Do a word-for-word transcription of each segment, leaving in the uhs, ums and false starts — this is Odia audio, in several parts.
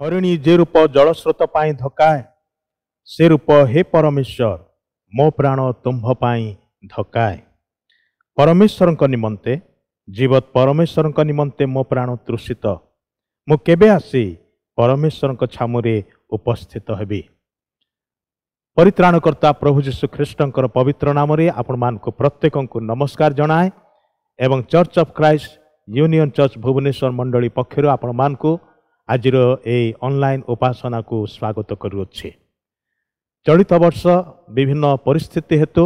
ହରିଣୀ ଯେ ରୂପ ଜଳସ୍ରୋତ ପାଇଁ ଧକାଏ, ସେ ରୂପ ହେ ପରମେଶ୍ୱର ମୋ ପ୍ରାଣ ତୁମ୍ଭ ପାଇଁ ଧକାଏ। ପରମେଶ୍ୱରଙ୍କ ନିମନ୍ତେ, ଜୀବତ ପରମେଶ୍ୱରଙ୍କ ନିମନ୍ତେ ମୋ ପ୍ରାଣ ତୃଷିତ। ମୁଁ କେବେ ଆସି ପରମେଶ୍ୱରଙ୍କ ଛାମୁରେ ଉପସ୍ଥିତ ହେବି? ପରିତ୍ରାଣକର୍ତ୍ତା ପ୍ରଭୁ ଯୀଶୁ ଖ୍ରୀଷ୍ଟଙ୍କର ପବିତ୍ର ନାମରେ ଆପଣମାନଙ୍କୁ ପ୍ରତ୍ୟେକଙ୍କୁ ନମସ୍କାର ଜଣାଏ ଏବଂ church of Christ union church Bhubaneswar ମଣ୍ଡଳୀ ପକ୍ଷରୁ ଆପଣମାନଙ୍କୁ ଆଜିର ଏହି ଅନଲାଇନ୍ ଉପାସନାକୁ ସ୍ୱାଗତ କରୁଅଛି। ଚଳିତ ବର୍ଷ ବିଭିନ୍ନ ପରିସ୍ଥିତି ହେତୁ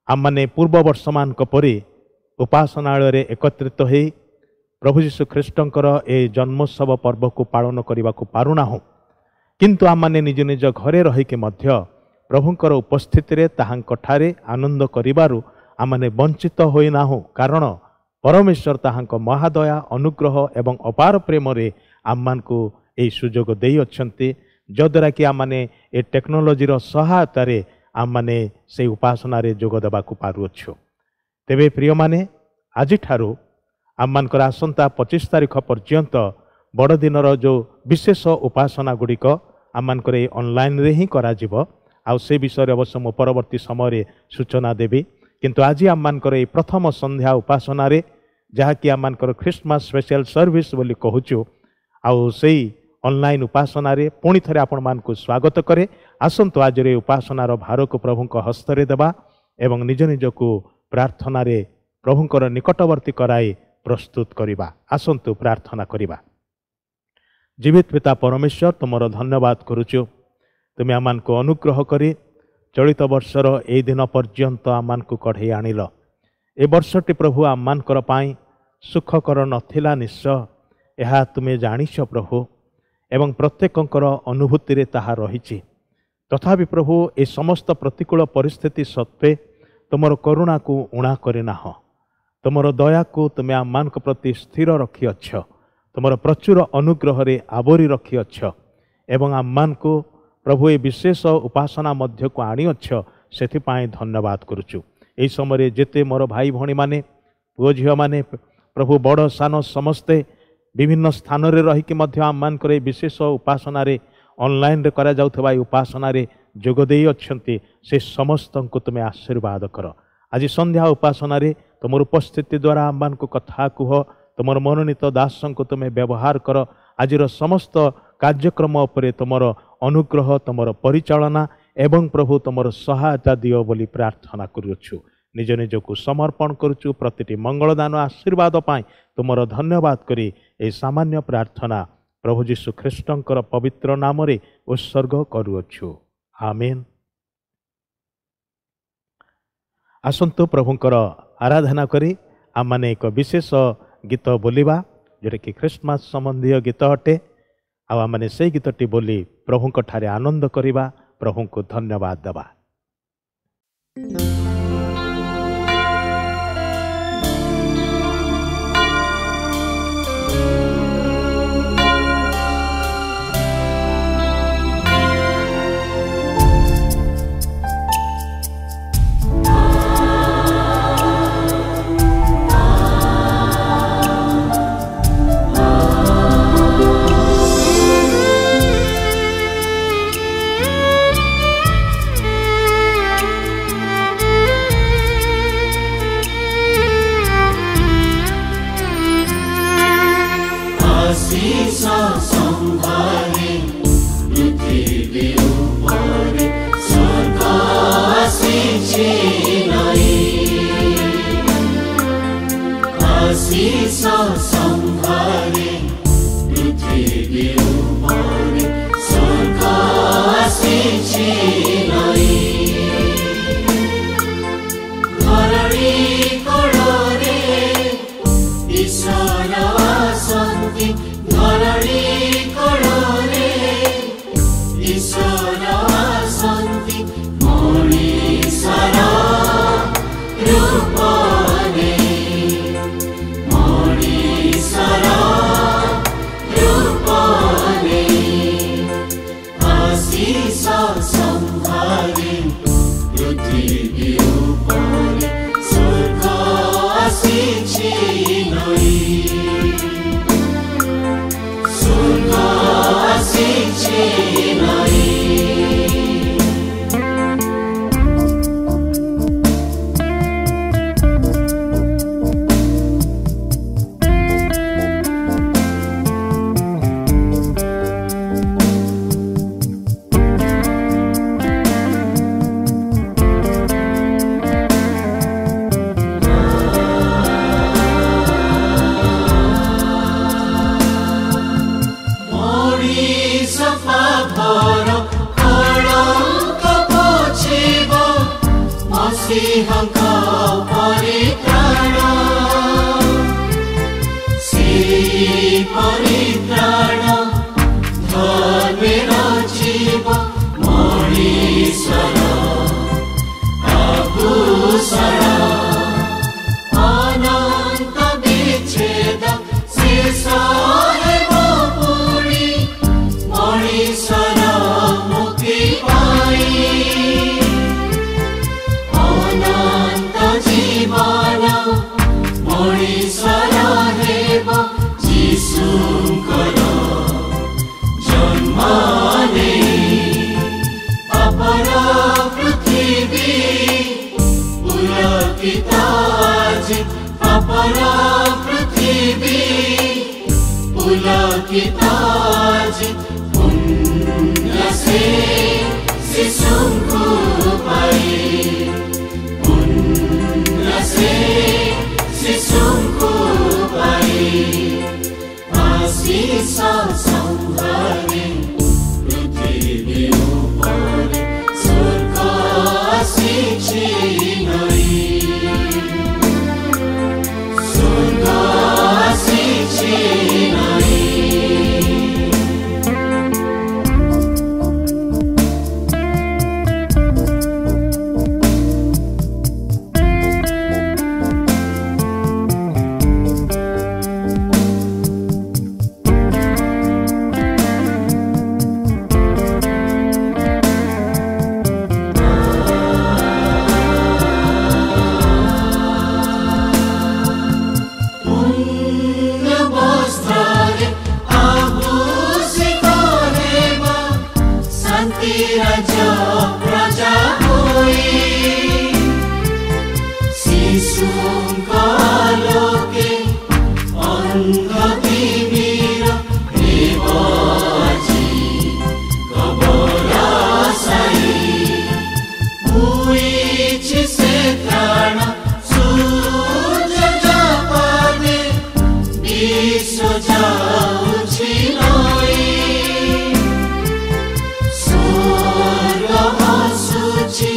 ଆମମାନେ ପୂର୍ବ ବର୍ଷମାନଙ୍କ ପରି ଉପାସନାଳୟରେ ଏକତ୍ରିତ ହୋଇ ପ୍ରଭୁ ଯୀଶୁ ଖ୍ରୀଷ୍ଟଙ୍କର ଏହି ଜନ୍ମୋତ୍ସବ ପର୍ବକୁ ପାଳନ କରିବାକୁ ପାରୁନାହୁଁ, କିନ୍ତୁ ଆମମାନେ ନିଜ ନିଜ ଘରେ ରହିକି ମଧ୍ୟ ପ୍ରଭୁଙ୍କର ଉପସ୍ଥିତିରେ ତାହାଙ୍କଠାରେ ଆନନ୍ଦ କରିବାରୁ ଆମମାନେ ବଞ୍ଚିତ ହୋଇନାହୁଁ। କାରଣ ପରମେଶ୍ୱର ତାହାଙ୍କ ମହାଦୟା, ଅନୁଗ୍ରହ ଏବଂ ଅପାର ପ୍ରେମରେ ଆମମାନଙ୍କୁ ଏହି ସୁଯୋଗ ଦେଇଅଛନ୍ତି, ଯଦ୍ୱାରା କି ଆମମାନେ ଏ ଟେକ୍ନୋଲୋଜିର ସହାୟତାରେ ଆମମାନେ ସେଇ ଉପାସନାରେ ଯୋଗ ଦେବାକୁ ପାରୁଅଛୁ। ତେବେ ପ୍ରିୟମାନେ, ଆଜିଠାରୁ ଆମମାନଙ୍କର ଆସନ୍ତା ପଚିଶ ତାରିଖ ପର୍ଯ୍ୟନ୍ତ ବଡ଼ଦିନର ଯେଉଁ ବିଶେଷ ଉପାସନା ଗୁଡ଼ିକ ଆମମାନଙ୍କର ଏଇ ଅନଲାଇନ୍ରେ ହିଁ କରାଯିବ। ଆଉ ସେ ବିଷୟରେ ଅବଶ୍ୟ ମୁଁ ପରବର୍ତ୍ତୀ ସମୟରେ ସୂଚନା ଦେବି। କିନ୍ତୁ ଆଜି ଆମମାନଙ୍କର ଏଇ ପ୍ରଥମ ସନ୍ଧ୍ୟା ଉପାସନାରେ, ଯାହାକି ଆମମାନଙ୍କର ଖ୍ରୀଷ୍ଟମାସ ସ୍ପେଶାଲ ସର୍ଭିସ୍ ବୋଲି କହୁଛୁ, ଆଉ ସେଇ ଅନଲାଇନ୍ ଉପାସନାରେ ପୁଣି ଥରେ ଆପଣମାନଙ୍କୁ ସ୍ୱାଗତ କରେ। ଆସନ୍ତୁ ଆଜିର ଏଇ ଉପାସନାର ଭାରକୁ ପ୍ରଭୁଙ୍କ ହସ୍ତରେ ଦେବା ଏବଂ ନିଜ ନିଜକୁ ପ୍ରାର୍ଥନାରେ ପ୍ରଭୁଙ୍କର ନିକଟବର୍ତ୍ତୀ କରାଇ ପ୍ରସ୍ତୁତ କରିବା। ଆସନ୍ତୁ ପ୍ରାର୍ଥନା କରିବା। ଜୀବିତ ପିତା ପରମେଶ୍ୱର, ତୁମର ଧନ୍ୟବାଦ କରୁଛୁ। ତୁମେ ଆମମାନଙ୍କୁ ଅନୁଗ୍ରହ କରି ଚଳିତ ବର୍ଷର ଏଇ ଦିନ ପର୍ଯ୍ୟନ୍ତ ଆମମାନଙ୍କୁ କଢ଼େଇ ଆଣିଲ। ଏ ବର୍ଷଟି ପ୍ରଭୁ ଆମମାନଙ୍କର ପାଇଁ ସୁଖକର ନଥିଲା ନିଶ୍ଚୟ, ଏହା ତୁମେ ଜାଣିଛ ପ୍ରଭୁ, ଏବଂ ପ୍ରତ୍ୟେକଙ୍କର ଅନୁଭୂତିରେ ତାହା ରହିଛି। ତଥାପି ପ୍ରଭୁ, ଏ ସମସ୍ତ ପ୍ରତିକୂଳ ପରିସ୍ଥିତି ସତ୍ତ୍ୱେ ତୁମର କରୁଣାକୁ ଊଣା କରିନାହଁ। ତୁମର ଦୟାକୁ ତୁମେ ଆମମାନଙ୍କ ପ୍ରତି ସ୍ଥିର ରଖିଅଛ, ତୁମର ପ୍ରଚୁର ଅନୁଗ୍ରହରେ ଆବୋରି ରଖିଅଛ ଏବଂ ଆମମାନଙ୍କୁ ପ୍ରଭୁ ଏ ବିଶେଷ ଉପାସନା ମଧ୍ୟକୁ ଆଣିଅଛ, ସେଥିପାଇଁ ଧନ୍ୟବାଦ କରୁଛୁ। ଏହି ସମୟରେ ଯେତେ ମୋର ଭାଇ ଭଉଣୀମାନେ, ପୁଅ ଝିଅମାନେ, ପ୍ରଭୁ ବଡ଼ ସାନ ସମସ୍ତେ ବିଭିନ୍ନ ସ୍ଥାନରେ ରହିକି ମଧ୍ୟ ଆମମାନଙ୍କର ଏହି ବିଶେଷ ଉପାସନାରେ, ଅନଲାଇନ୍ରେ କରାଯାଉଥିବା ଏହି ଉପାସନାରେ ଯୋଗ ଦେଇଅଛନ୍ତି, ସେ ସମସ୍ତଙ୍କୁ ତୁମେ ଆଶୀର୍ବାଦ କର। ଆଜି ସନ୍ଧ୍ୟା ଉପାସନାରେ ତୁମର ଉପସ୍ଥିତି ଦ୍ୱାରା ଆମମାନଙ୍କୁ କଥା କୁହ, ତୁମର ମନୋନୀତ ଦାସଙ୍କୁ ତୁମେ ବ୍ୟବହାର କର। ଆଜିର ସମସ୍ତ କାର୍ଯ୍ୟକ୍ରମ ଉପରେ ତୁମର ଅନୁଗ୍ରହ, ତୁମର ପରିଚାଳନା ଏବଂ ପ୍ରଭୁ ତୁମର ସହାୟତା ଦିଅ ବୋଲି ପ୍ରାର୍ଥନା କରୁଅଛୁ। ନିଜ ନିଜକୁ ସମର୍ପଣ କରୁଛୁ। ପ୍ରତିଟି ମଙ୍ଗଳଦାନ ଆଶୀର୍ବାଦ ପାଇଁ ତୁମର ଧନ୍ୟବାଦ କରି ଏହି ସାମାନ୍ୟ ପ୍ରାର୍ଥନା ପ୍ରଭୁ ଯୀଶୁ ଖ୍ରୀଷ୍ଟଙ୍କର ପବିତ୍ର ନାମରେ ଉତ୍ସର୍ଗ କରୁଅଛୁ। ଆମେନ୍। ଆସନ୍ତୁ ପ୍ରଭୁଙ୍କର ଆରାଧନା କରି ଆମମାନେ ଏକ ବିଶେଷ ଗୀତ ବୋଲିବା, ଯେଉଁଟାକି ଖ୍ରୀଷ୍ଟମାସ ସମ୍ବନ୍ଧୀୟ ଗୀତ ଅଟେ। ଆଉ ଆମମାନେ ସେଇ ଗୀତଟି ବୋଲି ପ୍ରଭୁଙ୍କ ଠାରେ ଆନନ୍ଦ କରିବା, ପ୍ରଭୁଙ୍କୁ ଧନ୍ୟବାଦ ଦେବା। पृथ्वी उपरे स्वर्ग आसीछि नई। ମସିହଙ୍କ ପରିତ୍ରାଣ ସେଇ ପରିତ୍ରାଣ ଧର୍ମେ ରଚିବ ମଣିଷର ଆଭୂଷଣ ଅନନ୍ତ ବିଚ୍ଛେଦ ଶେଷ ହେବ ପୁଣି ମଣିଷର ମୁକ୍ତି ପାଇଁ ଅନନ୍ତ ଜୀବନ ମଣିଷର ହେବ ଯୀଶୁଙ୍କର ଜନ୍ମ ନେଇ ପାପର ପୃଥିବୀ ପୁଲକିତ ଆଜି ପାପର ପୃଥିବୀ ପୁଲକିତ ଆଜି ପୁଣ୍ୟ ସେ ଶିଶୁଙ୍କୁ ପାଇ ପୁଣ୍ୟ ସେ ଶିଶୁଙ୍କୁ ପାଇ ଆଶିଷ ସମ୍ଭାରେ ପୃଥିବୀ ଉପରେ ସ୍ୱର୍ଗ ଆସିଛି ନଇ ସ୍ୱର୍ଗ ଆସିଛି ନଇ। ପୁଣ୍ୟ ବସ୍ତ୍ରରେ ଆଭୂଷିତ ହେବ ଶାନ୍ତି ରାଜ୍ୟ ପ୍ରଜା ହୋଇ ଶିଶୁଙ୍କ ଆଲୋକେ ଅନ୍ଧ ତିମିର ହେବ ଆଜି କବର ସାଇ ହୋଇଛି ସେ ତ୍ରାଣ ସୂର୍ଯ୍ୟ ଜାପାନେ ବିଶ୍ୱ ଯାଉଛି ନଇ ସ୍ୱର୍ଗ ହସୁଛି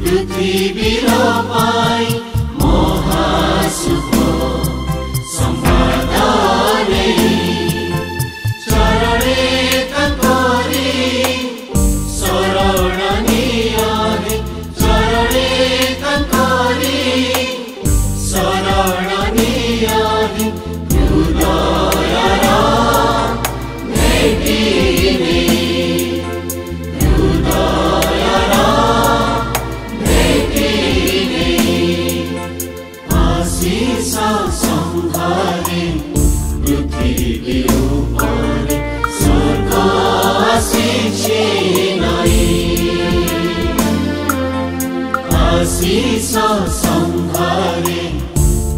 ପୃଥିବୀର ପାଇଁ ମହାଶୁଭ ସମ୍ବାଦ ନେଇ ଚରଣେ ତାଙ୍କରି ଶରଣ ନିଅ ହେ ଚରଣେ ତାଙ୍କରି ଶରଣ ନିଅ ହେ ହୃଦୟର ଭେଟି ନେଇ ହୃଦୟର ଭେଟି ନେଇ ଆଶିଷ ସମ୍ଭାରେ ପୃଥିବୀ ଉପରେ ସ୍ୱର୍ଗ ଆସିଛି ନଇ ଆଶିଷ ସମ୍ଭାରେ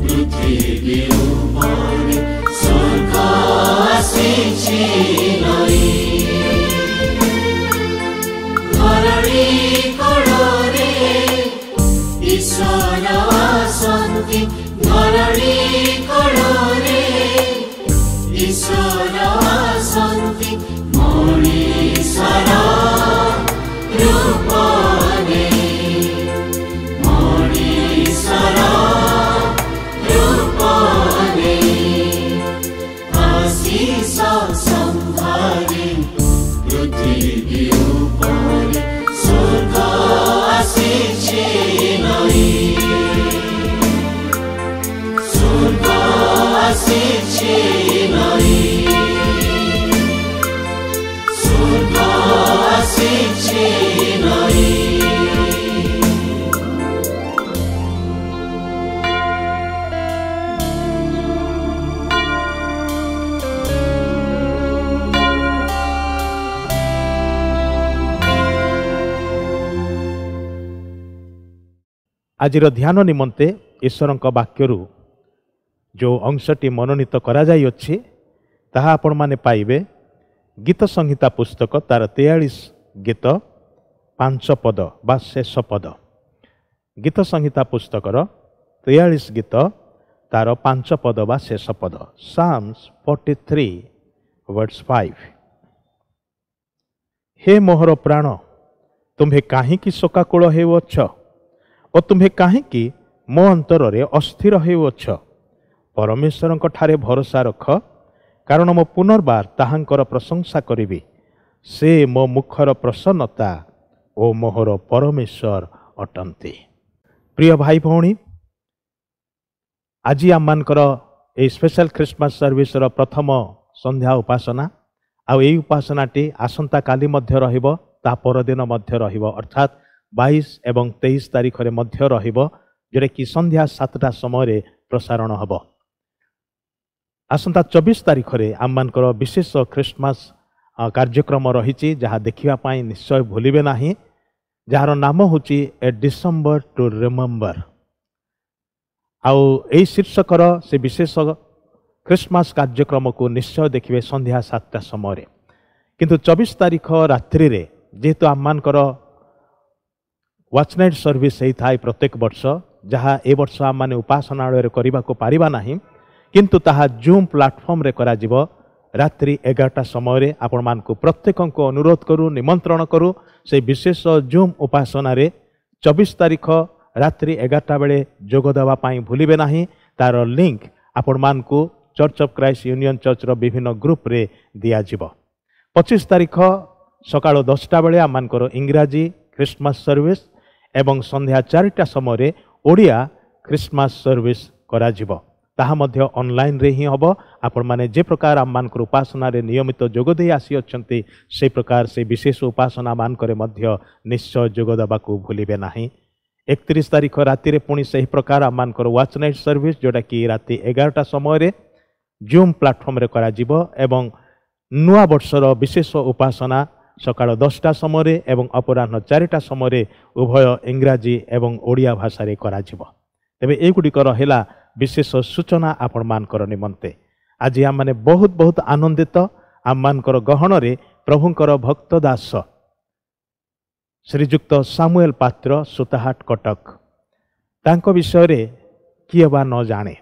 ପୃଥିବୀ ଉପରେ ସ୍ୱର୍ଗ ଆସିଛି ନଇ ଧରଣୀ କୋଳରେ ଈଶ୍ୱର ଆସନ୍ତି ଧରଣୀ କୋଳରେ ଈଶ୍ୱର ଆସନ୍ତି ମଣିଷର ରୂପ ନେଇ ମଣିଷର ରୂପ ନେଇ ଆଶିଷ ସମ୍ଭାରେ ପୃଥିବୀ ଉପରେ ସ୍ୱର୍ଗ ଆସିଛି ନଇ ସ୍ୱର୍ଗ ଆସିଛି ନଇ ସ୍ୱର୍ଗ ଆସିଛି ନଇ। ଆଜିର ଧ୍ୟାନ ନିମନ୍ତେ ଈଶ୍ୱରଙ୍କ ବାକ୍ୟରୁ ଯେଉଁ ଅଂଶଟି ମନୋନୀତ କରାଯାଇଅଛି ତାହା ଆପଣମାନେ ପାଇବେ ଗୀତ ସଂହିତା ପୁସ୍ତକ ତାର ତେୟାଳିଶ ଗୀତ ପାଞ୍ଚ ପଦ ବା ଶେଷ ପଦ। ଗୀତ ସଂହିତା ପୁସ୍ତକର ତେୟାଳିଶ ଗୀତ ତାର ପାଞ୍ଚ ପଦ ବା ଶେଷ ପଦ। Psalms forty three verse five. ହେ ମୋହର ପ୍ରାଣ, ତୁମ୍ଭେ କାହିଁକି ଶୋକାକୁଳ ହେଉଅଛ ଓ ଓ ତୁମ୍ଭେ କାହିଁକି ମୋ ଅନ୍ତରରେ ଅସ୍ଥିର ହେଉଅଛ? ପରମେଶ୍ୱରଙ୍କ ଠାରେ ଭରସା ରଖ, କାରଣ ମୁଁ ପୁନର୍ବାର ତାହାଙ୍କର ପ୍ରଶଂସା କରିବି। ସେ ମୋ ମୁଖର ପ୍ରସନ୍ନତା ଓ ମୋହର ପରମେଶ୍ୱର ଅଟନ୍ତି। ପ୍ରିୟ ଭାଇ ଭଉଣୀ, ଆଜି ଆମମାନଙ୍କର ଏହି ସ୍ପେଶାଲ ଖ୍ରୀଷ୍ଟମାସ ସର୍ଭିସର ପ୍ରଥମ ସନ୍ଧ୍ୟା ଉପାସନା, ଆଉ ଏହି ଉପାସନାଟି ଆସନ୍ତାକାଲି ମଧ୍ୟ ରହିବ, ତା ପରଦିନ ମଧ୍ୟ ରହିବ, ଅର୍ଥାତ୍ ବାଇଶ ଏବଂ ତେଇଶ ତାରିଖରେ ମଧ୍ୟ ରହିବ, ଯେଉଁଟାକି ସନ୍ଧ୍ୟା ସାତଟା ସମୟରେ ପ୍ରସାରଣ ହେବ। ଆସନ୍ତା ଚବିଶ ତାରିଖରେ ଆମମାନଙ୍କର ବିଶେଷ ଖ୍ରୀଷ୍ଟମାସ କାର୍ଯ୍ୟକ୍ରମ ରହିଛି, ଯାହା ଦେଖିବା ପାଇଁ ନିଶ୍ଚୟ ଭୁଲିବେ ନାହିଁ, ଯାହାର ନାମ ହେଉଛି ଏ ଡିସେମ୍ବର ଟୁ ରିମେମ୍ବର। ଆଉ ଏହି ଶୀର୍ଷକର ସେ ବିଶେଷ ଖ୍ରୀଷ୍ଟମାସ କାର୍ଯ୍ୟକ୍ରମକୁ ନିଶ୍ଚୟ ଦେଖିବେ ସନ୍ଧ୍ୟା ସାତଟା ସମୟରେ। କିନ୍ତୁ ଚବିଶ ତାରିଖ ରାତ୍ରିରେ ଯେହେତୁ ଆମମାନଙ୍କର ୱାଚ୍ ନାଇଟ୍ ସର୍ଭିସ୍ ହେଇଥାଏ ପ୍ରତ୍ୟେକ ବର୍ଷ, ଯାହା ଏ ବର୍ଷ ଆମମାନେ ଉପାସନାଳୟରେ କରିବାକୁ ପାରିବା ନାହିଁ, କିନ୍ତୁ ତାହା ଜୁମ୍ ପ୍ଲାଟଫର୍ମରେ କରାଯିବ ରାତ୍ରି ଏଗାରଟା ସମୟରେ। ଆପଣମାନଙ୍କୁ ପ୍ରତ୍ୟେକଙ୍କୁ ଅନୁରୋଧ କରୁ, ନିମନ୍ତ୍ରଣ କରୁ, ସେଇ ବିଶେଷ ଜୁମ୍ ଉପାସନାରେ ଚବିଶ ତାରିଖ ରାତ୍ରି ଏଗାରଟା ବେଳେ ଯୋଗ ଦେବା ପାଇଁ ଭୁଲିବେ ନାହିଁ। ତାର ଲିଙ୍କ ଆପଣମାନଙ୍କୁ ଚର୍ଚ୍ଚ ଅଫ୍ କ୍ରାଇଷ୍ଟ ୟୁନିୟନ ଚର୍ଚ୍ଚର ବିଭିନ୍ନ ଗ୍ରୁପରେ ଦିଆଯିବ। ପଚିଶ ତାରିଖ ସକାଳ ଦଶଟା ବେଳେ ଆମମାନଙ୍କର ଇଂରାଜୀ ଖ୍ରୀଷ୍ଟମାସ ସର୍ଭିସ୍ ଏବଂ ସନ୍ଧ୍ୟା ଚାରିଟା ସମୟରେ ଓଡ଼ିଆ ଖ୍ରୀଷ୍ଟମାସ ସର୍ଭିସ୍ କରାଯିବ। ତାହା ମଧ୍ୟ ଅନଲାଇନ୍ରେ ହିଁ ହେବ। ଆପଣମାନେ ଯେ ପ୍ରକାର ଆମମାନଙ୍କର ଉପାସନାରେ ନିୟମିତ ଯୋଗ ଦେଇ ଆସିଅଛନ୍ତି, ସେହି ପ୍ରକାର ସେ ବିଶେଷ ଉପାସନା ମାନଙ୍କରେ ମଧ୍ୟ ନିଶ୍ଚୟ ଯୋଗ ଦେବାକୁ ଭୁଲିବେ ନାହିଁ। ଏକତିରିଶ ତାରିଖ ରାତିରେ ପୁଣି ସେହି ପ୍ରକାର ଆମମାନଙ୍କର ୱାଚ୍ ନାଇଟ୍ ସର୍ଭିସ୍, ଯେଉଁଟାକି ରାତି ଏଗାରଟା ସମୟରେ ଜୁମ୍ ପ୍ଲାଟଫର୍ମରେ କରାଯିବ, ଏବଂ ନୂଆ ବର୍ଷର ବିଶେଷ ଉପାସନା ସକାଳ ଦଶଟା ସମୟରେ ଏବଂ ଅପରାହ୍ନ ଚାରିଟା ସମୟରେ ଉଭୟ ଇଂରାଜୀ ଏବଂ ଓଡ଼ିଆ ଭାଷାରେ କରାଯିବ। ତେବେ ଏଗୁଡ଼ିକ ରହିଲା ବିଶେଷ ସୂଚନା ଆପଣମାନଙ୍କର ନିମନ୍ତେ। ଆଜି ଆମମାନେ ବହୁତ ବହୁତ ଆନନ୍ଦିତ। ଆମମାନଙ୍କର ଗହଣରେ ପ୍ରଭୁଙ୍କର ଭକ୍ତ ଦାସ ଶ୍ରୀଯୁକ୍ତ ସାମୁଏଲ ପାତ୍ର, ସୁତାହାଟ, କଟକ। ତାଙ୍କ ବିଷୟରେ କିଏ ବା ନ ଜାଣେ?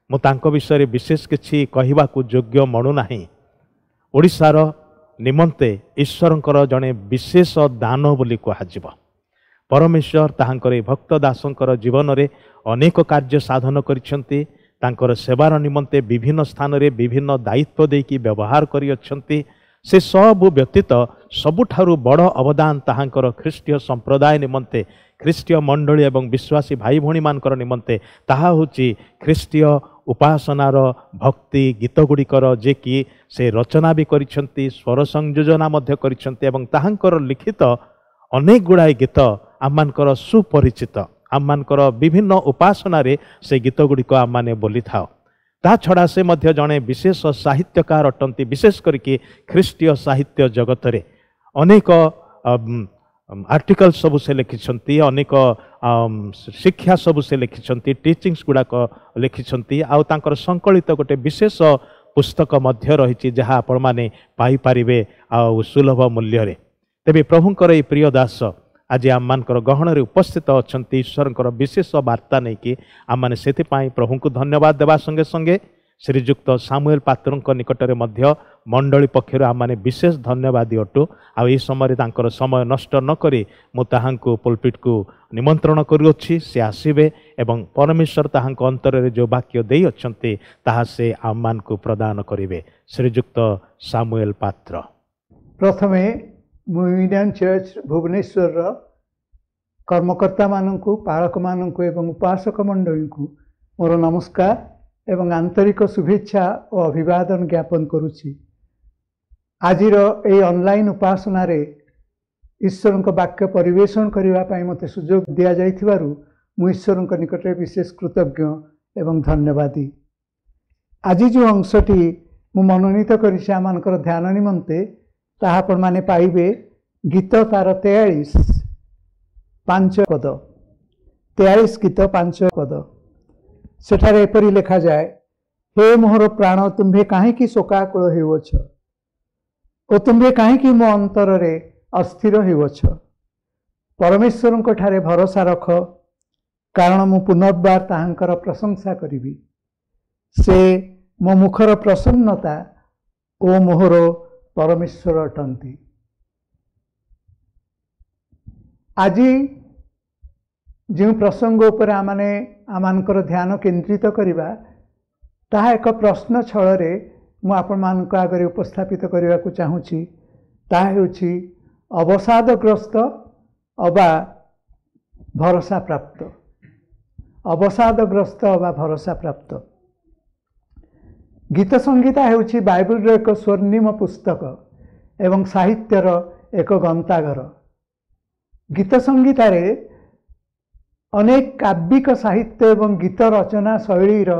ମୁଁ ତାଙ୍କ ବିଷୟରେ ବିଶେଷ କିଛି କହିବାକୁ ଯୋଗ୍ୟ ମଣୁନାହିଁ। ଓଡ଼ିଶାର ନିମନ୍ତେ ଈଶ୍ୱରଙ୍କର ଜଣେ ବିଶେଷ ଦାନ ବୋଲି କୁହାଯିବ। ପରମେଶ୍ୱର ତାହାଙ୍କର ଏହି ଭକ୍ତ ଦାସଙ୍କର ଜୀବନରେ ଅନେକ କାର୍ଯ୍ୟ ସାଧନ କରିଛନ୍ତି। ତାଙ୍କର ସେବାର ନିମନ୍ତେ ବିଭିନ୍ନ ସ୍ଥାନରେ ବିଭିନ୍ନ ଦାୟିତ୍ୱ ଦେଇକି ବ୍ୟବହାର କରିଅଛନ୍ତି। ସେ ସବୁ ବ୍ୟତୀତ ସବୁଠାରୁ ବଡ଼ ଅବଦାନ ତାହାଙ୍କର ଖ୍ରୀଷ୍ଟୀୟ ସମ୍ପ୍ରଦାୟ ନିମନ୍ତେ, ଖ୍ରୀଷ୍ଟୀୟ ମଣ୍ଡଳୀ ଏବଂ ବିଶ୍ୱାସୀ ଭାଇ ଭଉଣୀମାନଙ୍କର ନିମନ୍ତେ, ତାହା ହେଉଛି ଖ୍ରୀଷ୍ଟୀୟ ଉପାସନାର ଭକ୍ତି ଗୀତ ଗୁଡ଼ିକର ଯେ କି ସେ ରଚନା ବି କରିଛନ୍ତି, ସ୍ୱର ସଂଯୋଜନା ମଧ୍ୟ କରିଛନ୍ତି, ଏବଂ ତାହାଙ୍କର ଲିଖିତ ଅନେକ ଗୁଡ଼ାଏ ଗୀତ ଆମମାନଙ୍କର ସୁପରିଚିତ। ଆମମାନଙ୍କର ବିଭିନ୍ନ ଉପାସନାରେ ସେ ଗୀତ ଗୁଡ଼ିକ ଆମମାନେ ବୋଲିଥାଉ। ତା ଛଡ଼ା ସେ ମଧ୍ୟ ଜଣେ ବିଶେଷ ସାହିତ୍ୟକାର ଅଟନ୍ତି, ବିଶେଷ କରିକି ଖ୍ରୀଷ୍ଟୀୟ ସାହିତ୍ୟ ଜଗତରେ ଅନେକ ଆର୍ଟିକଲ ସବୁ ସେ ଲେଖିଛନ୍ତି, ଅନେକ ଶିକ୍ଷା ସବୁ ସେ ଲେଖିଛନ୍ତି, ଟିଚିଂସ୍ ଗୁଡ଼ାକ ଲେଖିଛନ୍ତି, ଆଉ ତାଙ୍କର ସଂକଳିତ ଗୋଟେ ବିଶେଷ ପୁସ୍ତକ ମଧ୍ୟ ରହିଛି, ଯାହା ଆପଣମାନେ ପାଇପାରିବେ ଆଉ ସୁଲଭ ମୂଲ୍ୟରେ। ତେବେ ପ୍ରଭୁଙ୍କର ଏହି ପ୍ରିୟ ଦାସ ଆଜି ଆମମାନଙ୍କର ଗହଣରେ ଉପସ୍ଥିତ ଅଛନ୍ତି ଈଶ୍ୱରଙ୍କର ବିଶେଷ ବାର୍ତ୍ତା ନେଇକି। ଆମମାନେ ସେଥିପାଇଁ ପ୍ରଭୁଙ୍କୁ ଧନ୍ୟବାଦ ଦେବା ସଙ୍ଗେ ସଙ୍ଗେ ଶ୍ରୀଯୁକ୍ତ ସାମୁଏଲ ପାତ୍ରଙ୍କ ନିକଟରେ ମଧ୍ୟ ମଣ୍ଡଳୀ ପକ୍ଷରୁ ଆମମାନେ ବିଶେଷ ଧନ୍ୟବାଦୀ ଅଟୁ। ଆଉ ଏହି ସମୟରେ ତାଙ୍କର ସମୟ ନଷ୍ଟ ନ କରି ମୁଁ ତାହାଙ୍କୁ ପୁଲପିଟକୁ ନିମନ୍ତ୍ରଣ କରୁଅଛି। ସେ ଆସିବେ ଏବଂ ପରମେଶ୍ୱର ତାହାଙ୍କ ଅନ୍ତରରେ ଯେଉଁ ବାକ୍ୟ ଦେଇଅଛନ୍ତି ତାହା ସେ ଆମମାନଙ୍କୁ ପ୍ରଦାନ କରିବେ। ଶ୍ରୀଯୁକ୍ତ ସାମୁଏଲ ପାତ୍ର। ପ୍ରଥମେ ମୁଁ ୟୁନିୟନ ଚର୍ଚ୍ଚ ଭୁବନେଶ୍ୱରର କର୍ମକର୍ତ୍ତାମାନଙ୍କୁ, ପାଳକମାନଙ୍କୁ ଏବଂ ଉପାସକ ମଣ୍ଡଳୀଙ୍କୁ ମୋର ନମସ୍କାର ଏବଂ ଆନ୍ତରିକ ଶୁଭେଚ୍ଛା ଓ ଅଭିବାଦନ ଜ୍ଞାପନ କରୁଛି। ଆଜିର ଏହି ଅନଲାଇନ୍ ଉପାସନାରେ ଈଶ୍ୱରଙ୍କ ବାକ୍ୟ ପରିବେଷଣ କରିବା ପାଇଁ ମୋତେ ସୁଯୋଗ ଦିଆଯାଇଥିବାରୁ ମୁଁ ଈଶ୍ୱରଙ୍କ ନିକଟରେ ବିଶେଷ କୃତଜ୍ଞ ଏବଂ ଧନ୍ୟବାଦୀ। ଆଜି ଯେଉଁ ଅଂଶଟି ମୁଁ ମନୋନୀତ କରିଛି ଆମମାନଙ୍କର ଧ୍ୟାନ ନିମନ୍ତେ, ତାହା ଆପଣମାନେ ପାଇବେ ଗୀତ ତାର ତେୟାଳିଶ ପାଞ୍ଚ ପଦ, ତେୟାଳିଶ ଗୀତ ପାଞ୍ଚ ପଦ। ସେଠାରେ ଏପରି ଲେଖାଯାଏ, ହେ ମୋହର ପ୍ରାଣ, ତୁମ୍ଭେ କାହିଁକି ଶୋକାକୁଳ ହେଉଅଛ ଓ ତୁମ୍ଭେ କାହିଁକି ମୋ ଅନ୍ତରରେ ଅସ୍ଥିର ହେଉଅଛ? ପରମେଶ୍ୱରଙ୍କ ଠାରେ ଭରସା ରଖ, କାରଣ ମୁଁ ପୁନର୍ବାର ତାହାଙ୍କର ପ୍ରଶଂସା କରିବି। ସେ ମୋ ମୁଖର ପ୍ରସନ୍ନତା ଓ ମୋହର ପରମେଶ୍ୱର ଅଟନ୍ତି। ଆଜି ଯେଉଁ ପ୍ରସଙ୍ଗ ଉପରେ ଆମମାନେ ଆମମାନଙ୍କର ଧ୍ୟାନ କେନ୍ଦ୍ରିତ କରିବା, ତାହା ଏକ ପ୍ରଶ୍ନ ଛଳରେ ମୁଁ ଆପଣମାନଙ୍କ ଆଗରେ ଉପସ୍ଥାପିତ କରିବାକୁ ଚାହୁଁଛି। ତାହା ହେଉଛି ଅବସାଦଗ୍ରସ୍ତ ଅବା ଭରସା ପ୍ରାପ୍ତ। ଅବସାଦଗ୍ରସ୍ତ ଅବା ଭରସା ପ୍ରାପ୍ତ। ଗୀତ ସଂହିତା ହେଉଛି ବାଇବଲର ଏକ ସ୍ୱର୍ଣ୍ଣିମ ପୁସ୍ତକ ଏବଂ ସାହିତ୍ୟର ଏକ ଗନ୍ତାଘର। ଗୀତ ସଂହିତାରେ ଅନେକ କାବ୍ୟିକ ସାହିତ୍ୟ ଏବଂ ଗୀତ ରଚନା ଶୈଳୀର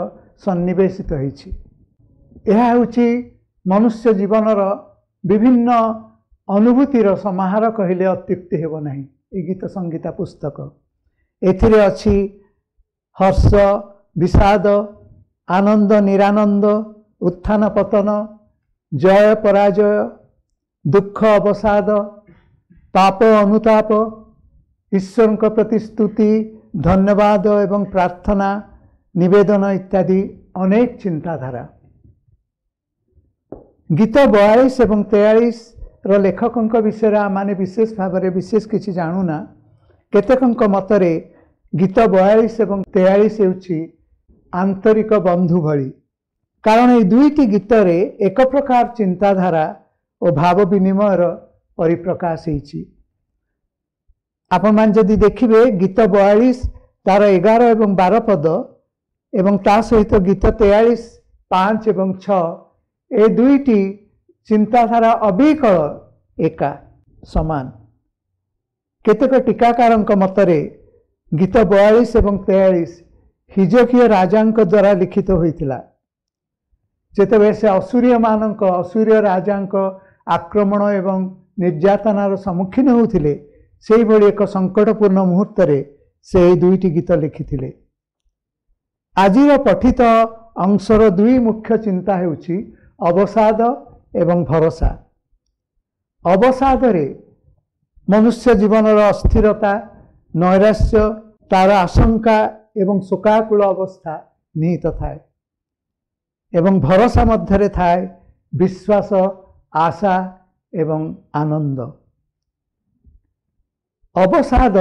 ସନ୍ନିବେଶିତ ହୋଇଛି। ଏହା ହେଉଛି ମନୁଷ୍ୟ ଜୀବନର ବିଭିନ୍ନ ଅନୁଭୂତିର ସମାହାର କହିଲେ ଅତ୍ୟୁକ୍ତି ହେବ ନାହିଁ। ଏ ଗୀତ ସଂହିତା ପୁସ୍ତକ, ଏଥିରେ ଅଛି ହର୍ଷ, ବିଷାଦ, ଆନନ୍ଦ, ନିରାନନ୍ଦ, ଉତ୍ଥାନ ପତନ, ଜୟ ପରାଜୟ, ଦୁଃଖ ଅବସାଦ, ପାପ ଅନୁତାପ, ଈଶ୍ୱରଙ୍କ ପ୍ରତି ସ୍ତୁତି, ଧନ୍ୟବାଦ ଏବଂ ପ୍ରାର୍ଥନା, ନିବେଦନ ଇତ୍ୟାଦି ଅନେକ ଚିନ୍ତାଧାରା। ଗୀତ ବୟାଳିଶ ଏବଂ ତେୟାଳିଶର ଲେଖକଙ୍କ ବିଷୟରେ ଆମମାନେ ବିଶେଷ ଭାବରେ ବିଶେଷ କିଛି ଜାଣୁନା। କେତେକଙ୍କ ମତରେ ଗୀତ ବୟାଳିଶ ଏବଂ ତେୟାଳିଶ ହେଉଛି ଆନ୍ତରିକ ବନ୍ଧୁ ଭଳି, କାରଣ ଏଇ ଦୁଇଟି ଗୀତରେ ଏକ ପ୍ରକାର ଚିନ୍ତାଧାରା ଓ ଭାବ ବିନିମୟର ପରିପ୍ରକାଶ ହେଇଛି। ଆପଣମାନେ ଯଦି ଦେଖିବେ, ଗୀତ ବୟାଳିଶ ତାର ଏଗାର ଏବଂ ବାର ପଦ ଏବଂ ତା ସହିତ ଗୀତ ତେୟାଳିଶ ପାଞ୍ଚ ଏବଂ ଛଅ, ଏ ଦୁଇଟି ଚିନ୍ତାଧାରା ଅବିକଳ ଏକା ସମାନ। କେତେକ ଟୀକାକାରଙ୍କ ମତରେ ଗୀତ ବୟାଳିଶ ଏବଂ ତେୟାଳିଶ ହିଜକୀୟ ରାଜାଙ୍କ ଦ୍ୱାରା ଲିଖିତ ହୋଇଥିଲା, ଯେତେବେଳେ ସେ ଅସୂରୀୟମାନଙ୍କ ଅସୂରୀୟ ରାଜାଙ୍କ ଆକ୍ରମଣ ଏବଂ ନିର୍ଯାତନାର ସମ୍ମୁଖୀନ ହେଉଥିଲେ। ସେଇଭଳି ଏକ ସଙ୍କଟପୂର୍ଣ୍ଣ ମୁହୂର୍ତ୍ତରେ ସେ ଏହି ଦୁଇଟି ଗୀତ ଲେଖିଥିଲେ। ଆଜିର ପଠିତ ଅଂଶର ଦୁଇ ମୁଖ୍ୟ ଚିନ୍ତା ହେଉଛି ଅବସାଦ ଏବଂ ଭରସା। ଅବସାଦରେ ମନୁଷ୍ୟ ଜୀବନର ଅସ୍ଥିରତା, ନୈରାଶ୍ୟ, ତାର ଆଶଙ୍କା ଏବଂ ଶୋକାକୁଳ ଅବସ୍ଥା ନିହିତ ଥାଏ ଏବଂ ଭରସା ମଧ୍ୟରେ ଥାଏ ବିଶ୍ୱାସ, ଆଶା ଏବଂ ଆନନ୍ଦ। ଅବସାଦ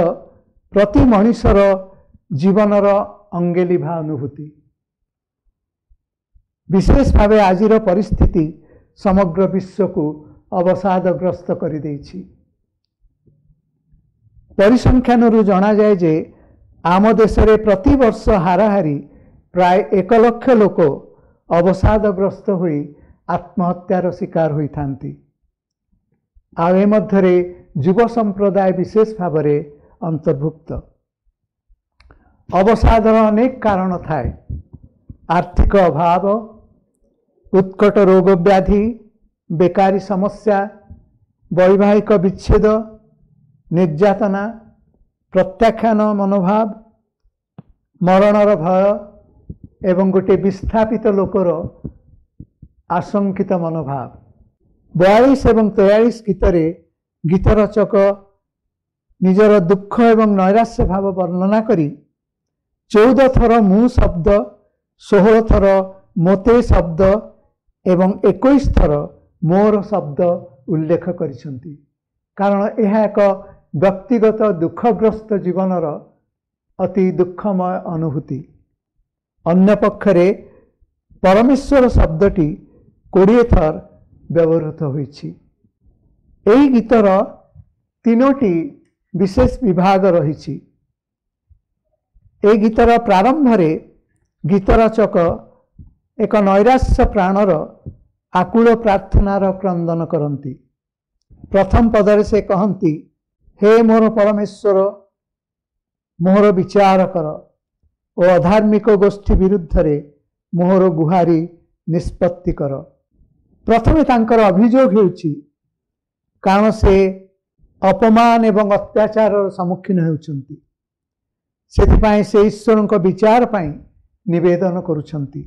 ପ୍ରତି ମଣିଷର ଜୀବନର ଅଙ୍ଗେଲିଭା ଅନୁଭୂତି। ବିଶେଷ ଭାବେ ଆଜିର ପରିସ୍ଥିତି ସମଗ୍ର ବିଶ୍ୱକୁ ଅବସାଦଗ୍ରସ୍ତ କରିଦେଇଛି। ପରିସଂଖ୍ୟାନରୁ ଜଣାଯାଏ ଯେ ଆମ ଦେଶରେ ପ୍ରତିବର୍ଷ ହାରାହାରି ପ୍ରାୟ ଏକ ଲକ୍ଷ ଲୋକ ଅବସାଦଗ୍ରସ୍ତ ହୋଇ ଆତ୍ମହତ୍ୟାର ଶିକାର ହୋଇଥାନ୍ତି। ଆଉ ଏ ମଧ୍ୟରେ ଯୁବ ସମ୍ପ୍ରଦାୟ ବିଶେଷ ଭାବରେ ଅନ୍ତର୍ଭୁକ୍ତ। ଅବସାଦର ଅନେକ କାରଣ ଥାଏ। ଆର୍ଥିକ ଅଭାବ, ଉତ୍କଟ ରୋଗବ୍ୟାଧି, ବେକାରୀ ସମସ୍ୟା, ବୈବାହିକ ବିଚ୍ଛେଦ, ନିର୍ଯାତନା, ପ୍ରତ୍ୟାଖ୍ୟାନ ମନୋଭାବ, ମରଣର ଭୟ ଏବଂ ଗୋଟିଏ ବିସ୍ଥାପିତ ଲୋକର ଆଶଙ୍କିତ ମନୋଭାବ। ବୟାଳିଶ ଏବଂ ତେୟାଳିଶ ଗୀତରେ ଗୀତ ରଚକ ନିଜର ଦୁଃଖ ଏବଂ ନୈରାଶ୍ୟ ଭାବ ବର୍ଣ୍ଣନା କରି ଚଉଦ ଥର ମୁଁ ଶବ୍ଦ, ଷୋହଳ ଥର ମୋତେ ଶବ୍ଦ ଏବଂ ଏକୋଇଶ ଥର ମୋର ଶବ୍ଦ ଉଲ୍ଲେଖ କରିଛନ୍ତି, କାରଣ ଏହା ଏକ ବ୍ୟକ୍ତିଗତ ଦୁଃଖଗ୍ରସ୍ତ ଜୀବନର ଅତି ଦୁଃଖମୟ ଅନୁଭୂତି। ଅନ୍ୟପକ୍ଷରେ ପରମେଶ୍ୱର ଶବ୍ଦଟି କୋଡ଼ିଏ ଥର ବ୍ୟବହୃତ ହୋଇଛି। ଏହି ଗୀତର ତିନୋଟି ବିଶେଷ ବିଭାଗ ରହିଛି। ଏହି ଗୀତର ପ୍ରାରମ୍ଭରେ ଗୀତ ରଚକ ଏକ ନୈରାଶ୍ୟ ପ୍ରାଣର ଆକୁଳ ପ୍ରାର୍ଥନାର କ୍ରନ୍ଦନ କରନ୍ତି। ପ୍ରଥମ ପଦରେ ସେ କହନ୍ତି, ହେ ମୋର ପରମେଶ୍ୱର, ମୋହର ବିଚାର କର ଓ ଅଧାର୍ମିକ ଗୋଷ୍ଠୀ ବିରୁଦ୍ଧରେ ମୋହର ଗୁହାରି ନିଷ୍ପତ୍ତି କର। ପ୍ରଥମେ ତାଙ୍କର ଅଭିଯୋଗ ହେଉଛି, କାରଣ ସେ ଅପମାନ ଏବଂ ଅତ୍ୟାଚାରର ସମ୍ମୁଖୀନ ହେଉଛନ୍ତି, ସେଥିପାଇଁ ସେ ଈଶ୍ୱରଙ୍କ ବିଚାର ପାଇଁ ନିବେଦନ କରୁଛନ୍ତି।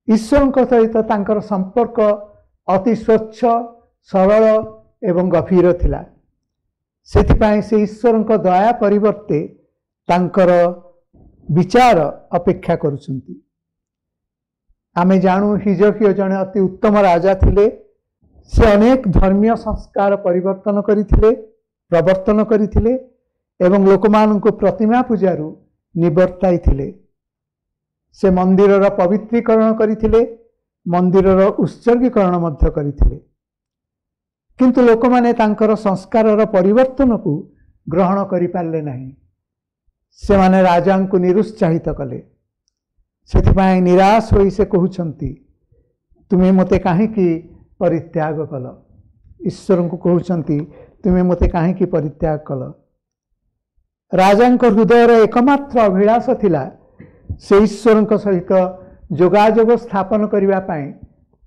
ଈଶ୍ୱରଙ୍କ ସହିତ ତାଙ୍କର ସମ୍ପର୍କ ଅତି ସ୍ୱଚ୍ଛ, ସରଳ ଏବଂ ଗଭୀର ଥିଲା। ସେଥିପାଇଁ ସେ ଈଶ୍ୱରଙ୍କ ଦୟା ପରିବର୍ତ୍ତେ ତାଙ୍କର ବିଚାର ଅପେକ୍ଷା କରୁଛନ୍ତି। ଆମେ ଜାଣୁ ହିଜକୀୟ ଜଣେ ଅତି ଉତ୍ତମ ରାଜା ଥିଲେ। ସେ ଅନେକ ଧର୍ମୀୟ ସଂସ୍କାର ପରିବର୍ତ୍ତନ କରିଥିଲେ, ପ୍ରବର୍ତ୍ତନ କରିଥିଲେ ଏବଂ ଲୋକମାନଙ୍କୁ ପ୍ରତିମା ପୂଜାରୁ ନିବର୍ତ୍ତାଇଥିଲେ। ସେ ମନ୍ଦିରର ପବିତ୍ରୀକରଣ କରିଥିଲେ, ମନ୍ଦିରର ଉତ୍ସର୍ଗୀକରଣ ମଧ୍ୟ କରିଥିଲେ। କିନ୍ତୁ ଲୋକମାନେ ତାଙ୍କର ସଂସ୍କାରର ପରିବର୍ତ୍ତନକୁ ଗ୍ରହଣ କରିପାରିଲେ ନାହିଁ। ସେମାନେ ରାଜାଙ୍କୁ ନିରୁତ୍ସାହିତ କଲେ। ସେଥିପାଇଁ ନିରାଶ ହୋଇ ସେ କହୁଛନ୍ତି, ତୁମେ ମୋତେ କାହିଁକି ପରିତ୍ୟାଗ କଲ? ଈଶ୍ୱରଙ୍କୁ କହୁଛନ୍ତି, ତୁମେ ମୋତେ କାହିଁକି ପରିତ୍ୟାଗ କଲ? ରାଜାଙ୍କ ହୃଦୟର ଏକମାତ୍ର ଅଭିଳାଷ ଥିଲା ସେ ଈଶ୍ୱରଙ୍କ ସହିତ ଯୋଗାଯୋଗ ସ୍ଥାପନ କରିବା ପାଇଁ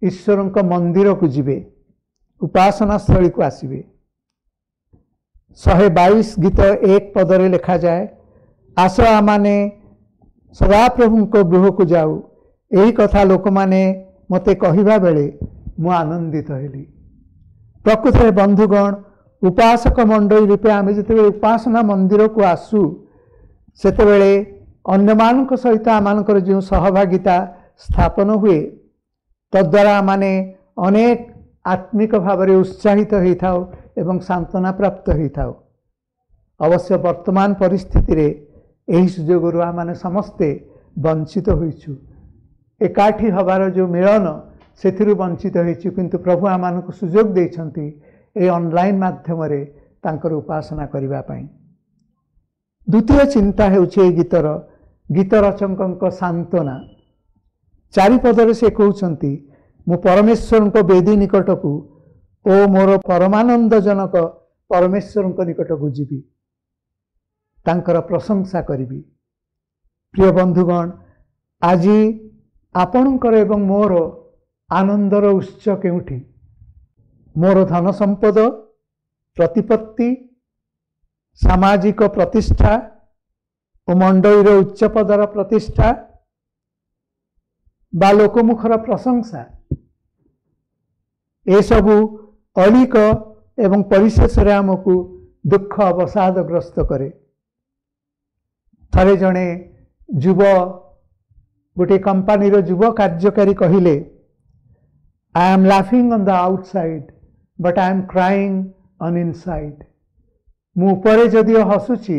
ଈଶ୍ୱରଙ୍କ ମନ୍ଦିରକୁ ଯିବେ, ଉପାସନା ସ୍ଥଳୀକୁ ଆସିବେ। ଶହେ ବାଇଶ ଗୀତ ଏକ ପଦରେ ଲେଖାଯାଏ, ଆସ ଆମମାନେ ସଦାପ୍ରଭୁଙ୍କ ଗୃହକୁ ଯାଉ। ଏହି କଥା ଲୋକମାନେ ମୋତେ କହିବା ବେଳେ ମୁଁ ଆନନ୍ଦିତ ହେଲି। ପ୍ରକୃତରେ ବନ୍ଧୁଗଣ, ଉପାସକ ମଣ୍ଡଳୀ ରୂପେ ଆମେ ଯେତେବେଳେ ଉପାସନା ମନ୍ଦିରକୁ ଆସୁ, ସେତେବେଳେ ଅନ୍ୟମାନଙ୍କ ସହିତ ଆମମାନଙ୍କର ଯେଉଁ ସହଭାଗିତା ସ୍ଥାପନ ହୁଏ, ତଦ୍ୱାରା ଆମମାନେ ଅନେକ ଆତ୍ମିକ ଭାବରେ ଉତ୍ସାହିତ ହୋଇଥାଉ ଏବଂ ସାନ୍ତ୍ୱନା ପ୍ରାପ୍ତ ହୋଇଥାଉ। ଅବଶ୍ୟ ବର୍ତ୍ତମାନ ପରିସ୍ଥିତିରେ ଏହି ସୁଯୋଗରୁ ଆମମାନେ ସମସ୍ତେ ବଞ୍ଚିତ ହୋଇଛୁ। ଏକାଠି ହେବାର ଯେଉଁ ମିଳନ, ସେଥିରୁ ବଞ୍ଚିତ ହୋଇଛୁ। କିନ୍ତୁ ପ୍ରଭୁ ଆମମାନଙ୍କୁ ସୁଯୋଗ ଦେଇଛନ୍ତି ଏହି ଅନଲାଇନ୍ ମାଧ୍ୟମରେ ତାଙ୍କର ଉପାସନା କରିବା ପାଇଁ। ଦ୍ୱିତୀୟ ଚିନ୍ତା ହେଉଛି ଏହି ଗୀତର ଗୀତ ରଚକଙ୍କ ସାନ୍ତ୍ୱନା। ଚାରିପଦରେ ସେ କହୁଛନ୍ତି, ମୁଁ ପରମେଶ୍ୱରଙ୍କ ବେଦୀ ନିକଟକୁ ଓ ମୋର ପରମାନନ୍ଦଜନକ ପରମେଶ୍ୱରଙ୍କ ନିକଟକୁ ଯିବି, ତାଙ୍କର ପ୍ରଶଂସା କରିବି। ପ୍ରିୟ ବନ୍ଧୁଗଣ, ଆଜି ଆପଣଙ୍କର ଏବଂ ମୋର ଆନନ୍ଦର ଉତ୍ସ କେଉଁଠି? ମୋର ଧନ ସମ୍ପଦ, ପ୍ରତିପତ୍ତି, ସାମାଜିକ ପ୍ରତିଷ୍ଠା ଓ ମଣ୍ଡଳୀର ଉଚ୍ଚ ପଦର ପ୍ରତିଷ୍ଠା ବା ଲୋକମୁଖର ପ୍ରଶଂସା, ଏସବୁ ଅଳିକ ଏବଂ ପରିଶେଷରେ ଆମକୁ ଦୁଃଖ ଅବସାଦଗ୍ରସ୍ତ କରେ। ଥରେ ଜଣେ ଯୁବ, ଗୋଟିଏ କମ୍ପାନୀର ଯୁବ କାର୍ଯ୍ୟକାରୀ କହିଲେ, I am laughing on the outside but I am crying on inside. ମୁଁ ଉପରେ ଯଦିଓ ହସୁଛି,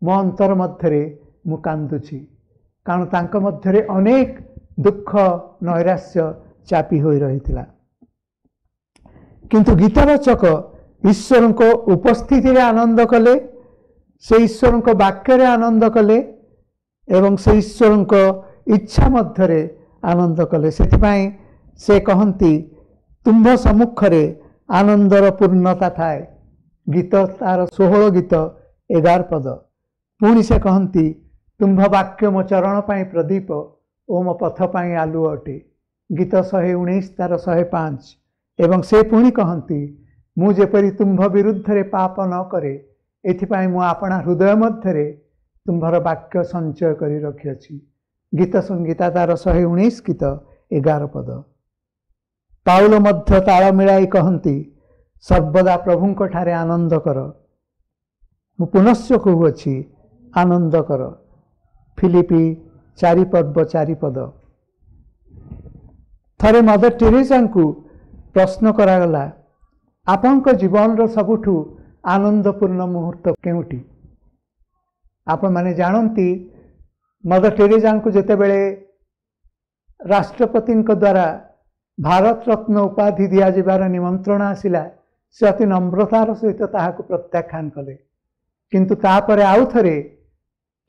ମୋ ଅନ୍ତର ମଧ୍ୟରେ ମୁଁ କାନ୍ଦୁଛି। କାରଣ ତାଙ୍କ ମଧ୍ୟରେ ଅନେକ ଦୁଃଖ ନୈରାଶ୍ୟ ଚାପି ହୋଇ ରହିଥିଲା। କିନ୍ତୁ ଗୀତ ରଚକ ଈଶ୍ୱରଙ୍କ ଉପସ୍ଥିତିରେ ଆନନ୍ଦ କଲେ, ସେ ଈଶ୍ୱରଙ୍କ ବାକ୍ୟରେ ଆନନ୍ଦ କଲେ ଏବଂ ସେ ଈଶ୍ୱରଙ୍କ ଇଚ୍ଛା ମଧ୍ୟରେ ଆନନ୍ଦ କଲେ। ସେଥିପାଇଁ ସେ କହନ୍ତି, ତୁମ୍ଭ ସମ୍ମୁଖରେ ଆନନ୍ଦର ପୂର୍ଣ୍ଣତା ଥାଏ। ଗୀତ ତାର ଷୋହଳ ଗୀତ ଏଗାର ପଦ। ପୁଣି ସେ କହନ୍ତି, ତୁମ୍ଭ ବାକ୍ୟ ମୋ ଚରଣ ପାଇଁ ପ୍ରଦୀପ ଓ ମୋ ପଥ ପାଇଁ ଆଲୁଅ ଅଟେ। ଗୀତ ଶହେ ଉଣେଇଶ ତାର ଶହେ ପାଞ୍ଚ। ଏବଂ ସେ ପୁଣି କହନ୍ତି, ମୁଁ ଯେପରି ତୁମ୍ଭ ବିରୁଦ୍ଧରେ ପାପ ନ କରେ, ଏଥିପାଇଁ ମୁଁ ଆପଣା ହୃଦୟ ମଧ୍ୟରେ ତୁମ୍ଭର ବାକ୍ୟ ସଞ୍ଚୟ କରି ରଖିଅଛି। ଗୀତ ସଂହିତା ତାର ଶହେ ଉଣେଇଶ ଗୀତ ଏଗାର ପଦ। ପାଉଲ ମଧ୍ୟ ତାଳ ମିଳାଇ କହନ୍ତି, ସର୍ବଦା ପ୍ରଭୁଙ୍କ ଠାରେ ଆନନ୍ଦ କର। ମୁଁ ପୁନଶ୍ଚ କହୁଅଛି, ଆନନ୍ଦ କର। ଫିଲିପି ଚାରି ପର୍ବ ଚାରି ପଦ। ଥରେ ମଦର ଟେରେସାଙ୍କୁ ପ୍ରଶ୍ନ କରାଗଲା, ଆପଣଙ୍କ ଜୀବନର ସବୁଠୁ ଆନନ୍ଦପୂର୍ଣ୍ଣ ମୁହୂର୍ତ୍ତ କେଉଁଟି? ଆପଣମାନେ ଜାଣନ୍ତି, ମଦର ଟେରେସାଙ୍କୁ ଯେତେବେଳେ ରାଷ୍ଟ୍ରପତିଙ୍କ ଦ୍ୱାରା ଭାରତ ରତ୍ନ ଉପାଧି ଦିଆଯିବାର ନିମନ୍ତ୍ରଣ ଆସିଲା, ସେ ଅତି ନମ୍ରତାର ସହିତ ତାହାକୁ ପ୍ରତ୍ୟାଖ୍ୟାନ କଲେ। କିନ୍ତୁ ତାପରେ ଆଉ ଥରେ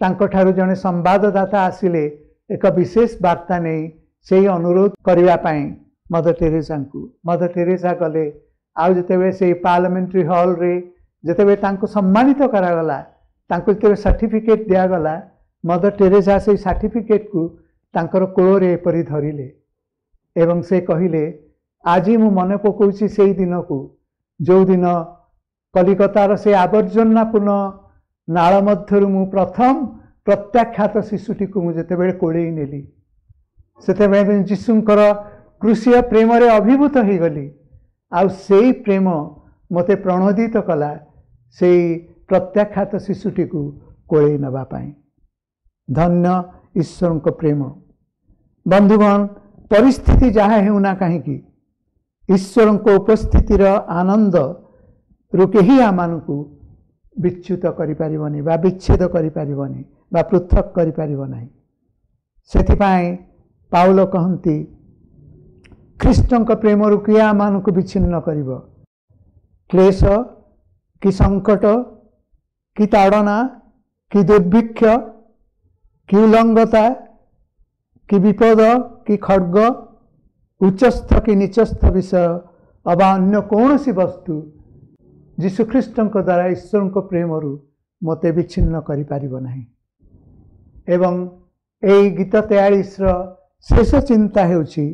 ତାଙ୍କଠାରୁ ଜଣେ ସମ୍ବାଦଦାତା ଆସିଲେ ଏକ ବିଶେଷ ବାର୍ତ୍ତା ନେଇ, ସେଇ ଅନୁରୋଧ କରିବା ପାଇଁ ମଦର ଟେରେସାଙ୍କୁ। ମଦର ଟେରେସା ଗଲେ, ଆଉ ଯେତେବେଳେ ସେଇ ପାର୍ଲାମେଣ୍ଟାରୀ ହଲ୍ରେ ଯେତେବେଳେ ତାଙ୍କୁ ସମ୍ମାନିତ କରାଗଲା, ତାଙ୍କୁ ଯେତେବେଳେ ସାର୍ଟିଫିକେଟ୍ ଦିଆଗଲା, ମଦର ଟେରେସା ସେଇ ସାର୍ଟିଫିକେଟ୍କୁ ତାଙ୍କର କୋଳରେ ଏପରି ଧରିଲେ ଏବଂ ସେ କହିଲେ, ଆଜି ମୁଁ ମନେ ପକାଉଛି ସେଇ ଦିନକୁ, ଯେଉଁଦିନ କଲିକତାର ସେ ଆବର୍ଜନାପୂର୍ଣ୍ଣ ନାଳ ମଧ୍ୟରୁ ମୁଁ ପ୍ରଥମ ପ୍ରତ୍ୟାଖ୍ୟାତ ଶିଶୁଟିକୁ ମୁଁ ଯେତେବେଳେ କୋଳେଇ ନେଲି, ସେତେବେଳେ ମୁଁ ଯୀଶୁଙ୍କର କ୍ରୁଶୀୟ ପ୍ରେମରେ ଅଭିଭୂତ ହୋଇଗଲି, ଆଉ ସେଇ ପ୍ରେମ ମୋତେ ପ୍ରଣୋଦିତ କଲା ସେଇ ପ୍ରତ୍ୟାଖ୍ୟାତ ଶିଶୁଟିକୁ କୋଳେଇ ନେବା ପାଇଁ। ଧନ୍ୟ ଈଶ୍ୱରଙ୍କ ପ୍ରେମ। ବନ୍ଧୁଗଣ, ପରିସ୍ଥିତି ଯାହା ହେଉନା କାହିଁକି, ଈଶ୍ୱରଙ୍କ ଉପସ୍ଥିତିର ଆନନ୍ଦରୁ କେହି ଆମମାନଙ୍କୁ ବିଚ୍ୟୁତ କରିପାରିବନି ବା ବିଚ୍ଛେଦ କରିପାରିବନି ବା ପୃଥକ କରିପାରିବ ନାହିଁ। ସେଥିପାଇଁ ପାଉଲ କହନ୍ତି, ଖ୍ରୀଷ୍ଟଙ୍କ ପ୍ରେମରୁ କିଏ ଆମମାନଙ୍କୁ ବିଚ୍ଛିନ୍ନ କରିବ? କ୍ଲେଶ କି ସଙ୍କଟ କି ତାଡ଼ନା କି ଦୁର୍ଭିକ୍ଷ କି ଉଲଙ୍ଗତା କି ବିପଦ କି ଖଡ଼ଗ, ଉଚ୍ଚସ୍ଥ କି ନୀଚସ୍ଥ ବିଷୟ ଅବା ଅନ୍ୟ କୌଣସି ବସ୍ତୁ ଯୀଶୁଖ୍ରୀଷ୍ଟଙ୍କ ଦ୍ୱାରା ଈଶ୍ୱରଙ୍କ ପ୍ରେମରୁ ମୋତେ ବିଚ୍ଛିନ୍ନ କରିପାରିବ ନାହିଁ। ଏବଂ ଏଇ ଗୀତ ତେୟାଳିଶର ଶେଷ ଚିନ୍ତା ହେଉଛି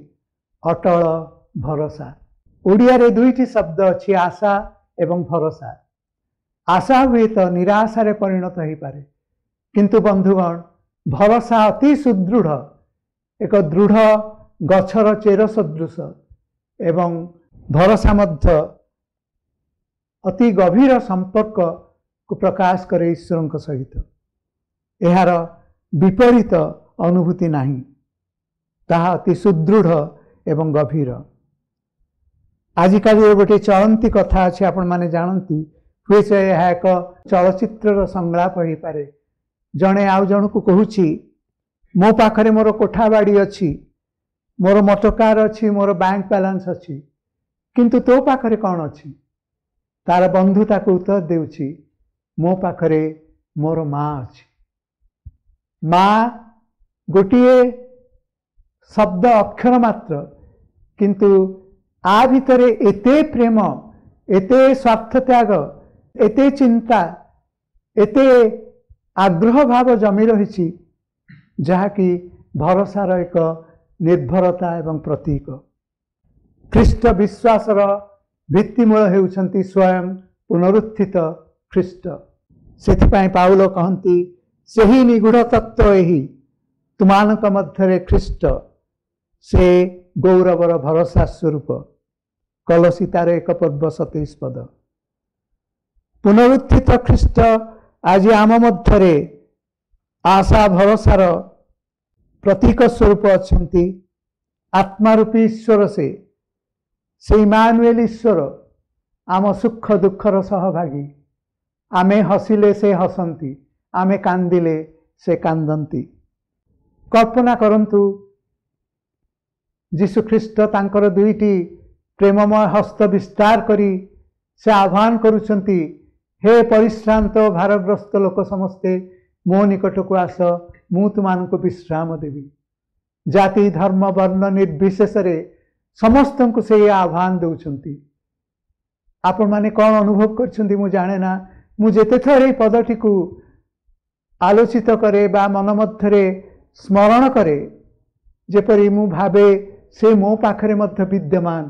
ଅଟଳ ଭରସା। ଓଡ଼ିଆରେ ଦୁଇଟି ଶବ୍ଦ ଅଛି, ଆଶା ଏବଂ ଭରସା। ଆଶା ହୁଏତ ନିରାଶାରେ ପରିଣତ ହୋଇପାରେ, କିନ୍ତୁ ବନ୍ଧୁଗଣ, ଭରସା ଅତି ସୁଦୃଢ଼, ଏକ ଦୃଢ଼ ଗଛର ଚେର ସଦୃଶ, ଏବଂ ଭରସା ମଧ୍ୟ ଅତି ଗଭୀର ସମ୍ପର୍କକୁ ପ୍ରକାଶ କରେ ଈଶ୍ୱରଙ୍କ ସହିତ। ଏହାର ବିପରୀତ ଅନୁଭୂତି ନାହିଁ, ତାହା ଅତି ସୁଦୃଢ଼ ଏବଂ ଗଭୀର। ଆଜିକାଲିର ଗୋଟିଏ ଚଳନ୍ତି କଥା ଅଛି, ଆପଣମାନେ ଜାଣନ୍ତି, ହୁଏତ ଏହା ଏକ ଚଳଚ୍ଚିତ୍ରର ସଂଳାପ ହୋଇପାରେ। ଜଣେ ଆଉ ଜଣକୁ କହୁଛି, ମୋ ପାଖରେ ମୋର କୋଠା ବାଡ଼ି ଅଛି, ମୋର ମୋଟର ଅଛି, ମୋର ବ୍ୟାଙ୍କ ବାଲାନ୍ସ ଅଛି, କିନ୍ତୁ ତୋ ପାଖରେ କ'ଣ ଅଛି? ତାର ବନ୍ଧୁ ତାକୁ ଉତ୍ତର ଦେଉଛି, ମୋ ପାଖରେ ମୋର ମା ଅଛି। ମା ଗୋଟିଏ ଶବ୍ଦ ଅକ୍ଷର ମାତ୍ର, କିନ୍ତୁ ଆ ଭିତରେ ଏତେ ପ୍ରେମ, ଏତେ ସ୍ୱାର୍ଥ ତ୍ୟାଗ, ଏତେ ଚିନ୍ତା, ଏତେ ଆଗ୍ରହ ଭାବ ଜମି ରହିଛି, ଯାହାକି ଭରସାର ଏକ ନିର୍ଭରତା ଏବଂ ପ୍ରତୀକ। ଖ୍ରୀଷ୍ଟ ବିଶ୍ୱାସର ଭିତ୍ତିମୂଳ ହେଉଛନ୍ତି ସ୍ୱୟଂ ପୁନରୁତ୍ଥିତ ଖ୍ରୀଷ୍ଟ। ସେଥିପାଇଁ ପାଉଲ କହନ୍ତି, ସେହି ନିଗୂଢ଼ ତତ୍ତ୍ୱ ଏହି, ତୁମାନଙ୍କ ମଧ୍ୟରେ ଖ୍ରୀଷ୍ଟ, ସେ ଗୌରବର ଭରସା ସ୍ୱରୂପ। କଲସୀ ତାର ଏକ ପର୍ବ ସତେଇଶ ପଦ। ପୁନରୁତ୍ଥିତ ଖ୍ରୀଷ୍ଟ ଆଜି ଆମ ମଧ୍ୟରେ ଆଶା ଭରସାର ପ୍ରତୀକ ସ୍ୱରୂପ ଅଛନ୍ତି। ଆତ୍ମାରୂପୀ ଈଶ୍ୱର ସେ, ସେ ଇମାନୁଏଲ ଈଶ୍ୱର, ଆମ ସୁଖ ଦୁଃଖର ସହଭାଗୀ। ଆମେ ହସିଲେ ସେ ହସନ୍ତି, ଆମେ କାନ୍ଦିଲେ ସେ କାନ୍ଦନ୍ତି। କଳ୍ପନା କରନ୍ତୁ, ଯୀଶୁଖ୍ରୀଷ୍ଟ ତାଙ୍କର ଦୁଇଟି ପ୍ରେମମୟ ହସ୍ତ ବିସ୍ତାର କରି ସେ ଆହ୍ୱାନ କରୁଛନ୍ତି, ହେ ପରିଶ୍ରାନ୍ତ ଭାରଗ୍ରସ୍ତ ଲୋକ ସମସ୍ତେ, ମୋ ନିକଟକୁ ଆସ, ମୁଁ ତୁମମାନଙ୍କୁ ବିଶ୍ରାମ ଦେବି। ଜାତି ଧର୍ମ ବର୍ଣ୍ଣ ନିର୍ବିଶେଷରେ ସମସ୍ତଙ୍କୁ ସେ ଆହ୍ୱାନ ଦେଉଛନ୍ତି। ଆପଣମାନେ କ'ଣ ଅନୁଭବ କରିଛନ୍ତି ମୁଁ ଜାଣେ ନା। ମୁଁ ଯେତେଥର ଏଇ ପଦଟିକୁ ଆଲୋଚିତ କରେ ବା ମନ ମଧ୍ୟରେ ସ୍ମରଣ କରେ, ଯେପରି ମୁଁ ଭାବେ ସେ ମୋ ପାଖରେ ମଧ୍ୟ ବିଦ୍ୟମାନ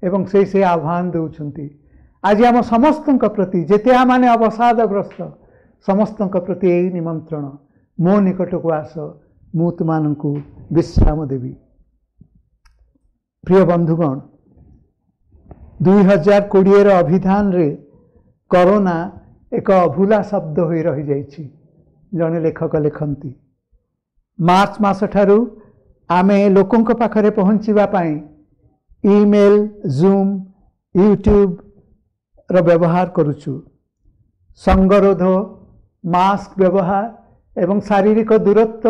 ଏବଂ ସେ ସେ ଆହ୍ୱାନ ଦେଉଛନ୍ତି। ଆଜି ଆମ ସମସ୍ତଙ୍କ ପ୍ରତି, ଯେତେ ଆମମାନେ ଅବସାଦଗ୍ରସ୍ତ, ସମସ୍ତଙ୍କ ପ୍ରତି ଏଇ ନିମନ୍ତ୍ରଣ, ମୋ ନିକଟକୁ ଆସ, ମୁଁ ତୁମମାନଙ୍କୁ ବିଶ୍ରାମ ଦେବି। ପ୍ରିୟ ବନ୍ଧୁଗଣ, ଦୁଇ ହଜାର କୋଡ଼ିଏର ଅଭିଧାନରେ କରୋନା ଏକ ଅଭୁଲା ଶବ୍ଦ ହୋଇ ରହିଯାଇଛି। ଜଣେ ଲେଖକ ଲେଖନ୍ତି, ମାର୍ଚ୍ଚ ମାସଠାରୁ ଆମେ ଲୋକଙ୍କ ପାଖରେ ପହଞ୍ଚିବା ପାଇଁ ଇମେଲ, ଜୁମ୍, ୟୁଟ୍ୟୁବର ବ୍ୟବହାର କରୁଛୁ। ସଙ୍ଗରୋଧ, ମାସ୍କ ବ୍ୟବହାର ଏବଂ ଶାରୀରିକ ଦୂରତ୍ୱ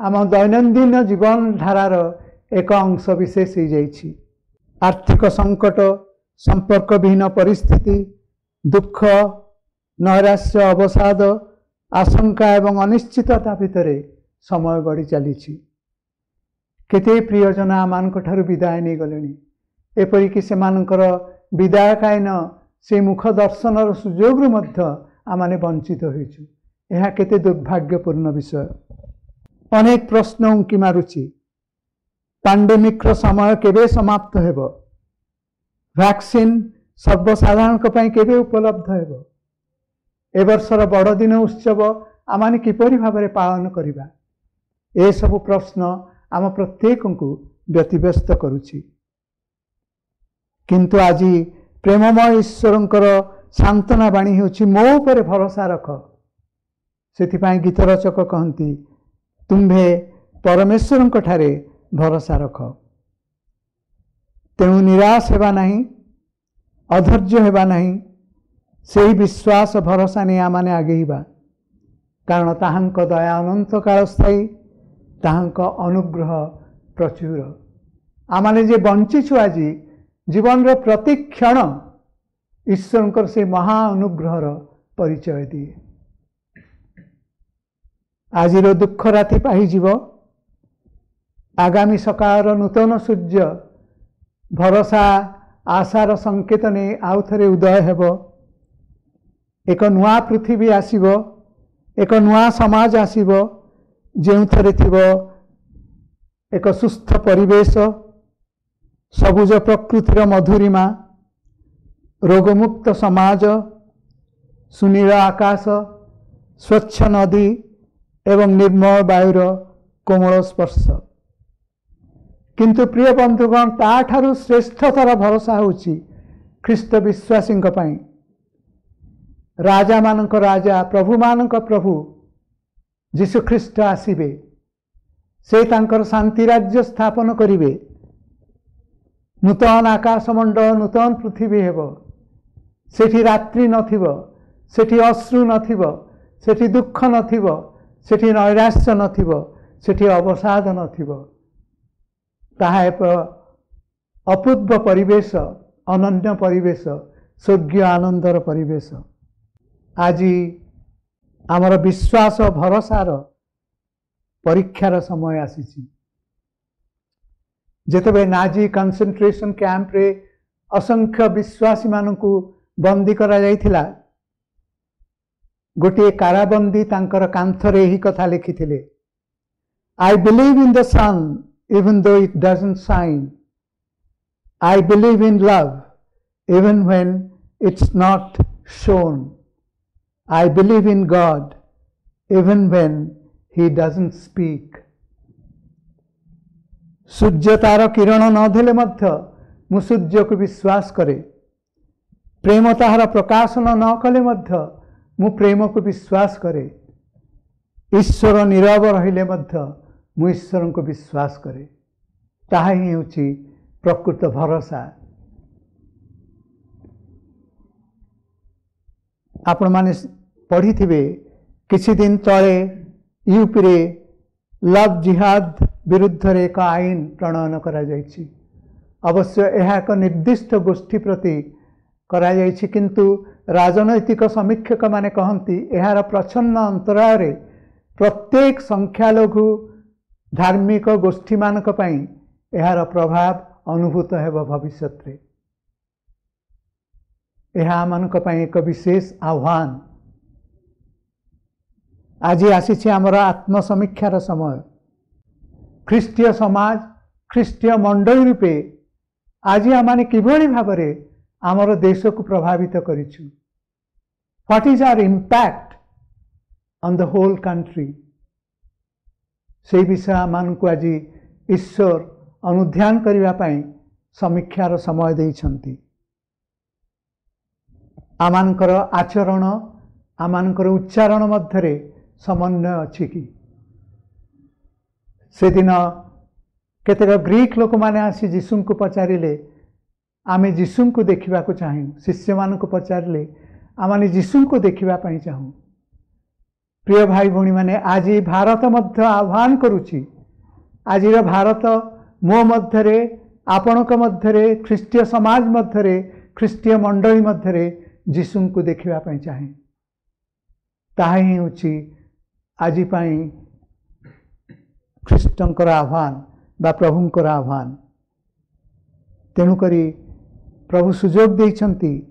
ଆମ ଦୈନନ୍ଦିନ ଜୀବନ ଧାରାର ଏକ ଅଂଶ ବିଶେଷ ହୋଇଯାଇଛି। ଆର୍ଥିକ ସଙ୍କଟ, ସମ୍ପର୍କବିହୀନ ପରିସ୍ଥିତି, ଦୁଃଖ, ନୈରାଶ୍ୟ, ଅବସାଦ, ଆଶଙ୍କା ଏବଂ ଅନିଶ୍ଚିତତା ଭିତରେ ସମୟ ଗଡ଼ି ଚାଲିଛି। କେତେ ପ୍ରିୟଜନ ଆମମାନଙ୍କ ଠାରୁ ବିଦାୟ ନେଇଗଲେଣି, ଏପରିକି ସେମାନଙ୍କର ବିଦାୟକାଳୀନ ସେ ମୁଖ ଦର୍ଶନର ସୁଯୋଗରୁ ମଧ୍ୟ ଆମମାନେ ବଞ୍ଚିତ ହୋଇଛୁ। ଏହା କେତେ ଦୁର୍ଭାଗ୍ୟପୂର୍ଣ୍ଣ ବିଷୟ। ଅନେକ ପ୍ରଶ୍ନ ଉଙ୍କି ମାରୁଛି। ପାଣ୍ଡେମିକ୍ର ସମୟ କେବେ ସମାପ୍ତ ହେବ? ଭ୍ୟାକ୍ସିନ୍ ସର୍ବସାଧାରଣଙ୍କ ପାଇଁ କେବେ ଉପଲବ୍ଧ ହେବ? ଏ ବର୍ଷର ବଡ଼ଦିନ ଉତ୍ସବ ଆମମାନେ କିପରି ଭାବରେ ପାଳନ କରିବା? ଏସବୁ ପ୍ରଶ୍ନ ଆମ ପ୍ରତ୍ୟେକଙ୍କୁ ବ୍ୟତିବ୍ୟସ୍ତ କରୁଛି। କିନ୍ତୁ ଆଜି ପ୍ରେମମୟ ଈଶ୍ୱରଙ୍କର ସାନ୍ତ୍ୱନା ବାଣୀ ହେଉଛି, ମୋ ଉପରେ ଭରସା ରଖ। ସେଥିପାଇଁ ଗୀତ ରଚକ କହନ୍ତି, ତୁମ୍ଭେ ପରମେଶ୍ୱରଙ୍କ ଠାରେ ଭରସା ରଖ। ତେଣୁ ନିରାଶ ହେବା ନାହିଁ, ଅଧୈର୍ଯ୍ୟ ହେବା ନାହିଁ। ସେହି ବିଶ୍ୱାସ ଭରସା ନେଇ ଆମମାନେ ଆଗେଇବା, କାରଣ ତାହାଙ୍କ ଦୟା ଅନନ୍ତ କାଳ ସ୍ଥାୟୀ, ତାହାଙ୍କ ଅନୁଗ୍ରହ ପ୍ରଚୁର। ଆମମାନେ ଯେ ବଞ୍ଚିଛୁ ଆଜି, ଜୀବନର ପ୍ରତି କ୍ଷଣ ଈଶ୍ୱରଙ୍କର ସେ ମହା ଅନୁଗ୍ରହର ପରିଚୟ ଦିଏ। ଆଜିର ଦୁଃଖ ରାତି ପାହିଯିବ, ଆଗାମୀ ସକାଳର ନୂତନ ସୂର୍ଯ୍ୟ ଭରସା ଆଶାର ସଂକେତ ନେଇ ଆଉ ଥରେ ଉଦୟ ହେବ। ଏକ ନୂଆ ପୃଥିବୀ ଆସିବ, ଏକ ନୂଆ ସମାଜ ଆସିବ, ଯେଉଁଥିରେ ଥିବ ଏକ ସୁସ୍ଥ ପରିବେଶ, ସବୁଜ ପ୍ରକୃତିର ମଧୁରିମା, ରୋଗମୁକ୍ତ ସମାଜ, ସୁନୀଳ ଆକାଶ, ସ୍ୱଚ୍ଛ ନଦୀ ଏବଂ ନିର୍ମଳ ବାୟୁର କୋମଳ ସ୍ପର୍ଶ। କିନ୍ତୁ ପ୍ରିୟ ବନ୍ଧୁଗଣ, ତାଠାରୁ ଶ୍ରେଷ୍ଠତର ଭରସା ହେଉଛି ଖ୍ରୀଷ୍ଟ ବିଶ୍ୱାସୀଙ୍କ ପାଇଁ ରାଜାମାନଙ୍କ ରାଜା, ପ୍ରଭୁମାନଙ୍କ ପ୍ରଭୁ ଯୀଶୁଖ୍ରୀଷ୍ଟ ଆସିବେ। ସେ ତାଙ୍କର ଶାନ୍ତି ରାଜ୍ୟ ସ୍ଥାପନ କରିବେ। ନୂତନ ଆକାଶମଣ୍ଡଳ, ନୂତନ ପୃଥିବୀ ହେବ। ସେଠି ରାତ୍ରି ନଥିବ, ସେଠି ଅଶ୍ରୁ ନଥିବ, ସେଠି ଦୁଃଖ ନଥିବ, ସେଠି ନୈରାଶ୍ୟ ନଥିବ, ସେଠି ଅବସାଦ ନଥିବ। ତାହା ଏକ ଅପୂର୍ବ ପରିବେଶ, ଅନନ୍ୟ ପରିବେଶ, ସ୍ୱର୍ଗୀୟ ଆନନ୍ଦର ପରିବେଶ। ଆଜି ଆମର ବିଶ୍ୱାସ ଭରସାର ପରୀକ୍ଷାର ସମୟ ଆସିଛି। ଯେତେବେଳେ ନାଜି କନସେନ୍ଟ୍ରେସନ କ୍ୟାମ୍ପରେ ଅସଂଖ୍ୟ ବିଶ୍ୱାସୀମାନଙ୍କୁ ବନ୍ଦୀ କରାଯାଇଥିଲା, ଗୋଟିଏ କାରାବନ୍ଦୀ ତାଙ୍କର କାନ୍ଥରେ ଏହି କଥା ଲେଖିଥିଲେ, "I believe in the sun even though it doesn't shine. I believe in love even when it's not shown. I believe in God even when he doesn't speak." ସୂର୍ଯ୍ୟ ତାର କିରଣ ନ ଦେଲେ ମଧ୍ୟ ମୁଁ ସୂର୍ଯ୍ୟକୁ ବିଶ୍ୱାସ କରେ। ପ୍ରେମ ତାହାର ପ୍ରକାଶନ ନ କଲେ ମଧ୍ୟ ମୁଁ ପ୍ରେମକୁ ବିଶ୍ୱାସ କରେ। ଈଶ୍ୱର ନୀରବ ରହିଲେ ମଧ୍ୟ ମୁଁ ଈଶ୍ୱରଙ୍କୁ ବିଶ୍ୱାସ କରେ। ତାହା ହିଁ ହେଉଛି ପ୍ରକୃତ ଭରସା। ଆପଣମାନେ ପଢ଼ିଥିବେ, କିଛି ଦିନ ତଳେ ୟୁପିରେ ଲଭ୍ ଜିହାଦ ବିରୁଦ୍ଧରେ ଏକ ଆଇନ ପ୍ରଣୟନ କରାଯାଇଛି। ଅବଶ୍ୟ ଏହା ଏକ ନିର୍ଦ୍ଦିଷ୍ଟ ଗୋଷ୍ଠୀ ପ୍ରତି କରାଯାଇଛି, କିନ୍ତୁ ରାଜନୈତିକ ସମୀକ୍ଷକମାନେ କହନ୍ତି, ଏହାର ପ୍ରଚ୍ଛନ୍ନ ଅନ୍ତରାଳରେ ପ୍ରତ୍ୟେକ ସଂଖ୍ୟାଲଘୁ ଧାର୍ମିକ ଗୋଷ୍ଠୀମାନଙ୍କ ପାଇଁ ଏହାର ପ୍ରଭାବ ଅନୁଭୂତ ହେବ ଭବିଷ୍ୟତରେ। ଏହା ଆମମାନଙ୍କ ପାଇଁ ଏକ ବିଶେଷ ଆହ୍ୱାନ। ଆଜି ଆସିଛି ଆମର ଆତ୍ମସମୀକ୍ଷାର ସମୟ। ଖ୍ରୀଷ୍ଟୀୟ ସମାଜ, ଖ୍ରୀଷ୍ଟୀୟ ମଣ୍ଡଳୀ ରୂପେ ଆଜି ଆମମାନେ କିଭଳି ଭାବରେ ଆମର ଦେଶକୁ ପ୍ରଭାବିତ କରିଛୁ? What is our impact on the whole country? ସେଇ ବିଷୟ ଆମମାନଙ୍କୁ ଆଜି ଈଶ୍ୱର ଅନୁଧ୍ୟାନ କରିବା ପାଇଁ ସମୀକ୍ଷାର ସମୟ ଦେଇଛନ୍ତି। ଆମମାନଙ୍କର ଆଚରଣ, ଆମମାନଙ୍କର ଉଚ୍ଚାରଣ ମଧ୍ୟରେ ସମନ୍ୱୟ ଅଛି କି? ସେଦିନ କେତେକ ଗ୍ରୀକ ଲୋକମାନେ ଆସି ଯୀଶୁଙ୍କୁ ପଚାରିଲେ, "ଆମେ ଯୀଶୁଙ୍କୁ ଦେଖିବାକୁ ଚାହୁଁ।" ଶିଷ୍ୟମାନଙ୍କୁ ପଚାରିଲେ, "ଆମମାନେ ଯୀଶୁଙ୍କୁ ଦେଖିବା ପାଇଁ ଚାହୁଁ।" ପ୍ରିୟ ଭାଇ ଭଉଣୀମାନେ, ଆଜି ଭାରତ ମଧ୍ୟ ଆହ୍ୱାନ କରୁଛି। ଆଜିର ଭାରତ ମୋ ମଧ୍ୟରେ, ଆପଣଙ୍କ ମଧ୍ୟରେ, ଖ୍ରୀଷ୍ଟୀୟ ସମାଜ ମଧ୍ୟରେ, ଖ୍ରୀଷ୍ଟୀୟ ମଣ୍ଡଳୀ ମଧ୍ୟରେ ଯୀଶୁଙ୍କୁ ଦେଖିବା ପାଇଁ ଚାହେଁ। ତାହା ହିଁ ହେଉଛି ଆଜି ପାଇଁ ଖ୍ରୀଷ୍ଟଙ୍କର ଆହ୍ୱାନ ବା ପ୍ରଭୁଙ୍କର ଆହ୍ୱାନ। ତେଣୁକରି ପ୍ରଭୁ ସୁଯୋଗ ଦେଇଛନ୍ତି,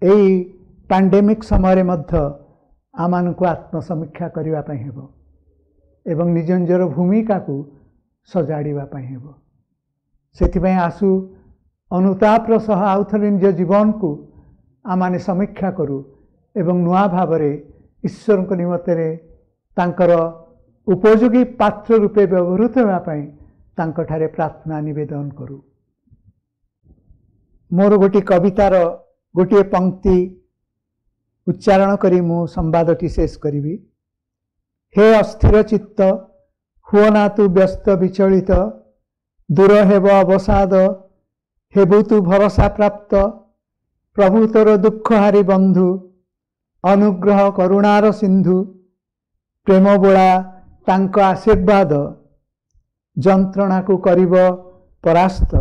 ଏଇ ପାଣ୍ଡେମିକ୍ ସମୟରେ ମଧ୍ୟ ଆମମାନଙ୍କୁ ଆତ୍ମସମୀକ୍ଷା କରିବା ପାଇଁ ହେବ ଏବଂ ନିଜ ନିଜର ଭୂମିକାକୁ ସଜାଡ଼ିବା ପାଇଁ ହେବ। ସେଥିପାଇଁ ଆସୁ, ଅନୁତାପର ସହ ଆଉଥରେ ନିଜ ଜୀବନକୁ ଆମମାନେ ସମୀକ୍ଷା କରୁ ଏବଂ ନୂଆ ଭାବରେ ଈଶ୍ୱରଙ୍କ ନିମନ୍ତରେ ତାଙ୍କର ଉପଯୋଗୀ ପାତ୍ର ରୂପେ ବ୍ୟବହୃତ ହେବା ପାଇଁ ତାଙ୍କଠାରେ ପ୍ରାର୍ଥନା ନିବେଦନ କରୁ। ମୋର ଗୋଟିଏ କବିତାର ଗୋଟିଏ ପଙ୍କ୍ତି ଉଚ୍ଚାରଣ କରି ମୁଁ ସମ୍ବାଦଟି ଶେଷ କରିବି। ହେ ଅସ୍ଥିର ଚିତ୍ତ, ହୁଅ ନା ତୁ ବ୍ୟସ୍ତ ବିଚଳିତ। ଦୂର ହେବ ଅବସାଦ, ହେବୁ ତୁ ଭରସା ପ୍ରାପ୍ତ। ପ୍ରଭୁ ତୋର ଦୁଃଖହାରୀ ବନ୍ଧୁ, ଅନୁଗ୍ରହ କରୁଣାର ସିନ୍ଧୁ, ପ୍ରେମ ବୋଳା ତାଙ୍କ ଆଶୀର୍ବାଦ ଯନ୍ତ୍ରଣାକୁ କରିବ ପରାସ୍ତ।